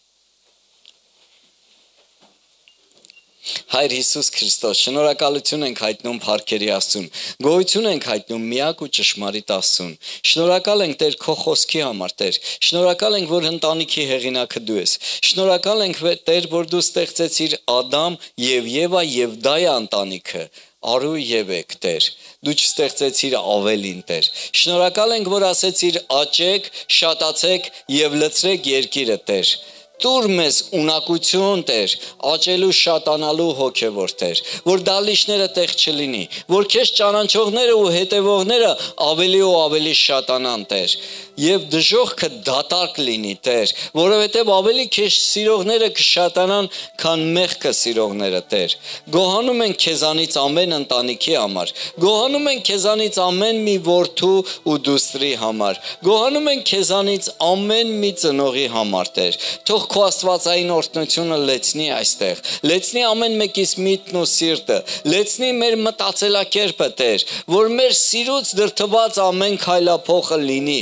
[SPEAKER 1] Հայր Հիսուս Քրիստոս, շնորհակալություն ենք հայտնում Փառքերի Աստծուն, գոհություն ենք հայտնում միակ ու ճշմարիտ Աստծուն, շնորհակալ ենք Տեր քո խոսքի համար, Տեր, շնորհակալ ենք, որ ընտանիքի հեղինակը դու ես, շնորհակալ ենք Տեր, որ դու ստեղծեցիր Ադամ եւ Եվա եւ դա է ընտանիքը, Արու եւ եք, Տեր, դու չստեղծեցիր ավելին, Տեր, շնորհակալ ենք, որ ասեցիր աճեք, շատացեք եւ լցրեք երկիրը, Տեր, Տուր մեզ ունակություն, Տեր, աճելու շատանալու հոգևոր, Տեր, որ դալիչները տեղ չլինի, որ քեզ ճանաչողները ու հետևողները ավելի ու ավելի շատանան, Տեր, եւ դժողքը դատարկ լինի, Տեր, որովհետեւ ավելի քեզ սիրողները կշատանան, քան մեղքը սիրողները, Տեր։ Գոհանում ենք քեզանից ամեն ընտանիքի համար, գոհանում ենք քեզանից ամեն մի որդու ու դուստրի համար, գոհանում ենք քեզանից ամեն մի ծնողի համար, Տեր։ Թող քո աստվածային օրհնությունը լեցնի այստեղ, լեցնի ամեն մեկիս միտքն ու սիրտը, լեցնի մեր մտածելակերպը, Տեր, որ մեր սիրուց դրդված ամեն քայլափոխը լինի։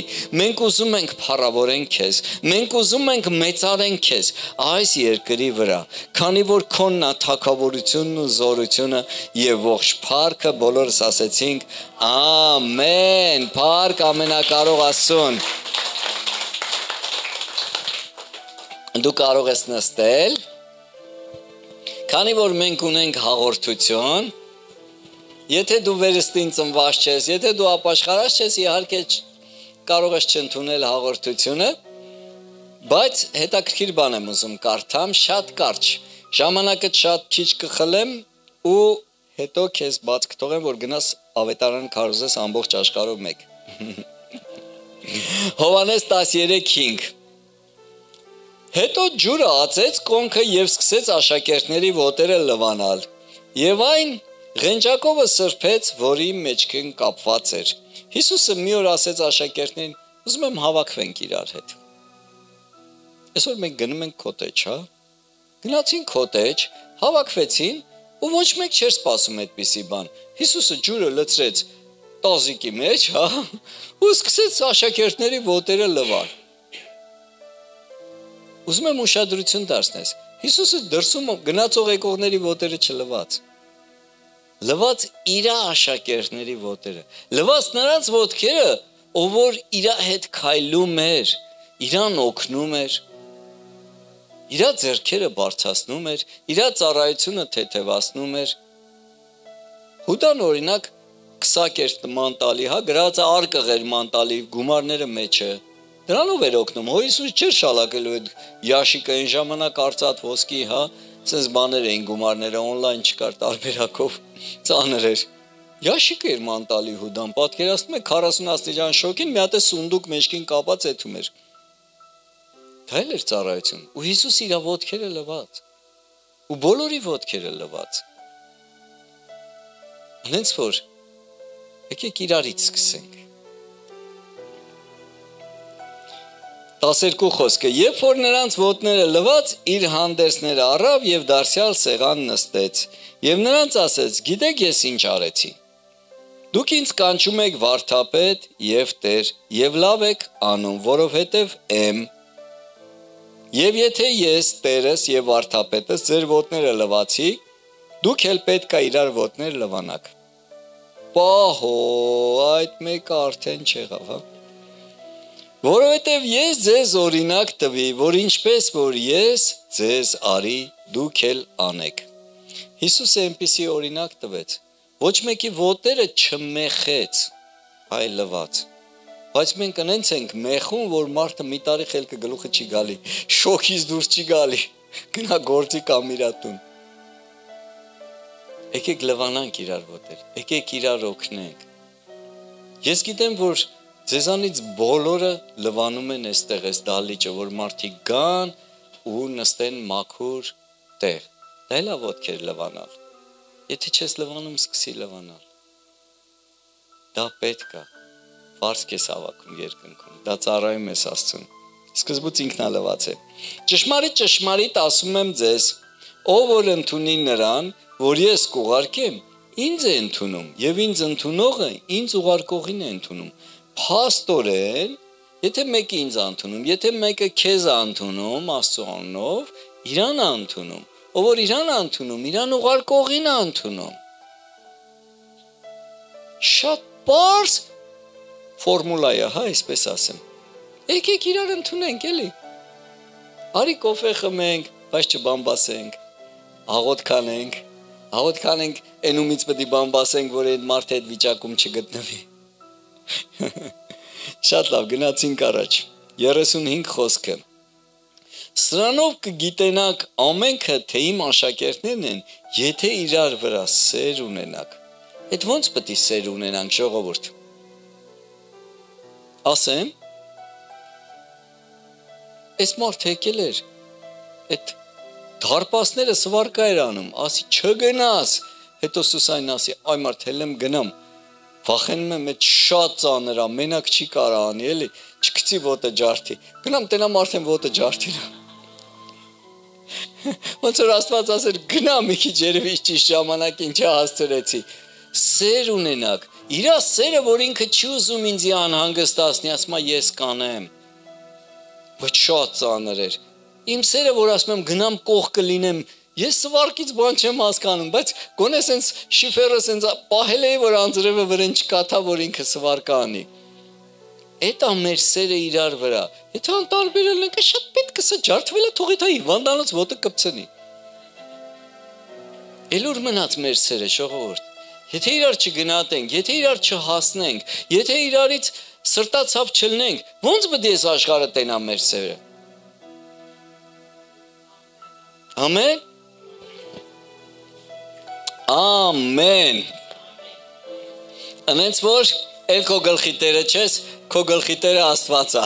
[SPEAKER 1] Մենք ուզում ենք փառավորենք քեզ, մենք ուզում ենք մեծարենք քեզ այս երկրի վրա, քանի որ քոնն է թագավորությունն ու զորությունը եւ ողջ փառքը բոլորս ասեցինք ամեն, փառք ամենակարող Աստծուն։ Դու կարող ես նստել, քանի որ մենք ունենք հաղորդություն, եթե դու վերստին ծնված ես, եթե դու ապաշխարած ես, իհարկե կարող ես չընդունել հաղորդությունը, բայց հետաքրքիր բան եմ ուզում կարդամ, շատ կարճ, ժամանակը շատ քիչ կխլեմ ու հետո քեզ բաց կթողեմ, որ գնաս ավետարան քարոզես ամբողջ աշխարհով մեկ։ Հովհաննես 13:5 Հետո ջուրը ածեց կոնքը եւ սկսեց աշակերտների ոտերը լվանալ։ Եվ այն ղենջակովը սրբեց, որի մեջքին կապված էր։ Հիսուսը մի օր ասեց աշակերտներին. ուզում եմ հավաքվենք իրար հետ։ Այսօր մենք գնում ենք կոտեջ, հա։ Գնացին կոտեջ, հավաքվեցին ու ոչ մեկ չէր սպասում այդպիսի բան։ Հիսուսը ջուրը լցրեց տազիկի մեջ, հա, ու սկսեց աշակերտների ոտերը լվալ։ Ուզում եմ ուշադրություն դարձնես, Հիսուսը դրսում գնացող եկողների ոտերը չլվաց։ Լվաց իր աշակերտների ոտերը։ Լվաց նրանց ոտքերը, ով որ իր հետ քայլում էր, իրան օգնում էր, իր ձեռքերը բարձրացնում էր, իր ծառայությունը թեթևացնում էր։ Հուդան օրինակ քսակերտ մանտալի, գրած արկղեր մանտալի, գումարները մեջը։ Դրանով էր օգնում։ Հիսուս չէր շալակելու այդ յաշիկը այն ժամանակ արծաթ ոսկի, sense բաներ էին գումարները on-line չկար տարբերակով, ծանր էր։ Յաշիկը էր մանտալի Հուդան, պատկերացնում եք 40 աստիճան շոկին մի հատ սունդուկ մեջքին կապած էթում էր։ Դա էլ էր ծառայություն։ Ու Հիսուս իր ոտքերը լվաց։ Ու բոլորի ոտքերը լվաց։ Հենց որ եկեք իրարից սկսենք։ 12 խոսքը. Երբ որ նրանց ոտները լվաց, իր հանդերձները առավ եւ դարձյալ սեղան նստեց։ Եվ նրանց ասեց. Գիտեք ես ինչ արեցի։ Դուք ինձ կանչում եք վարդապետ եւ Տեր, եւ լավ եք անում, որովհետեւ եմ։ Եվ եթե ես Տերս եւ վարդապետս ձեր ոտները լվացի, դուք էլ պետք է իրար ոտներ լվանաք։ Պահո, այդ մեկը արդեն չեղավ, հա։ Որովհետև ես ձեզ օրինակ տվի, որ ինչպես որ ես ձեզ արի, դուք էլ անեք։ Հիսուսը այնպիսի օրինակ տվեց, ոչ մեկի ոտները չմեխեց, այլ լվաց։ Բայց մենք ընենց ենք մեխում, որ մարդը մի տարի խելքը գլուխը չի գալի, շոքից դուրս չի գալի, գնա գործի կամ իրա տուն։ Եկեք լվանանք իրար ոտեր, եկեք իրար օգնենք։ Ես գիտեմ, որ ձեզանից բոլորը լվանում են այստեղ այս դահլիճը, որ մարդիկ գան ու նստեն մաքուր տեղ։ Դա էլ է ոտքեր լվանալ։ Եթե չես լվանում, սկսի լվանալ։ Դա պետք է։ Վարձք ես հավաքում երկնքում։ Դա ծառայում ես Աստծուն։ Սկզբուց ինքն է լված է։ Ճշմարիտ ասում եմ ձեզ, ով որ ընդունի նրան, որ ես կուղարկեմ, ինձ է ընդունում, եւ ինձ ընդունողը ինձ ուղարկողին է ընդունում։ Փաստորեն, եթե մեկը ինձ ընդունում, եթե մեկը քեզ ընդունում, Աստծո անունով, իրան ընդունում, ով որ իրան ընդունում, իրան ուղարկողին ընդունում։ Շատ բարձ ֆորմուլա է, այսպես ասեմ։ Եկեք իրար ընդունենք, էլի։ Արի կոֆե խմենք, բայց չբամբասենք, աղոթք անենք, այնումից պետք է բամբասենք, որ այդ մարդը այդ վիճակում չգտնվի։ Շատ լավ, գնացինք առաջ 35 խոսքը Սրանով կգիտենաք ամենքը, թե իմ աշակերտներն են, եթե իրար վրա սեր ունենաք։ Այդ ոնց պետք է սեր ունենանք, ժողովուրդ։ Ասեմ, այս մարդ եկել էր, այդ դարպասները սվարկա էր անում, ասի չգնաս, հետո Սուսանին ասի, այ մարդ հել եմ գնամ, վախենում եմ այդ շատ ծանր է, մենակ չի կարա անի, էլի, չգցի ոտը ջարդի, գնամ տենամ արդեն ոտը ջարդին։ Ոնց որ Աստված ասեր, գնա մի քիչ երևի ճիշտ ժամանակին չհասցրեցի, սեր ունենաք, իրա սերը, որ ինքը չի ուզում ինձ անհանգստացնի, ասում է ես կանեմ, բայց շատ ծանր էր, իմ սերը, որ ասում եմ գնամ կողքը լինեմ, ես սվարկից բան չեմ հասկանում, բայց գոնե սենց շիֆերը սենց պահել էի, որ անձրևը վրեն չկաթա, որ ինքը սվարկա անի։ Էդ է մեր սերը իրար վրա, եթե անտարբերել ենք, շատ պետք է սա ջարդվել է, թողի դա հիվանդանոց ոտը կպցնի։ Էլուր մնաց մեր սերը, ժողովուրդ, եթե իրար չգնատենք, եթե իրար չհասնենք, եթե իրարից սրտացավ չլնենք, ոնց պետք է այս աշխարհը տենա մեր սերը։ Ամեն։ Ամեն։ Անենց որ էլ քո գլխի տերը չես, քո գլխի տերը Աստված է։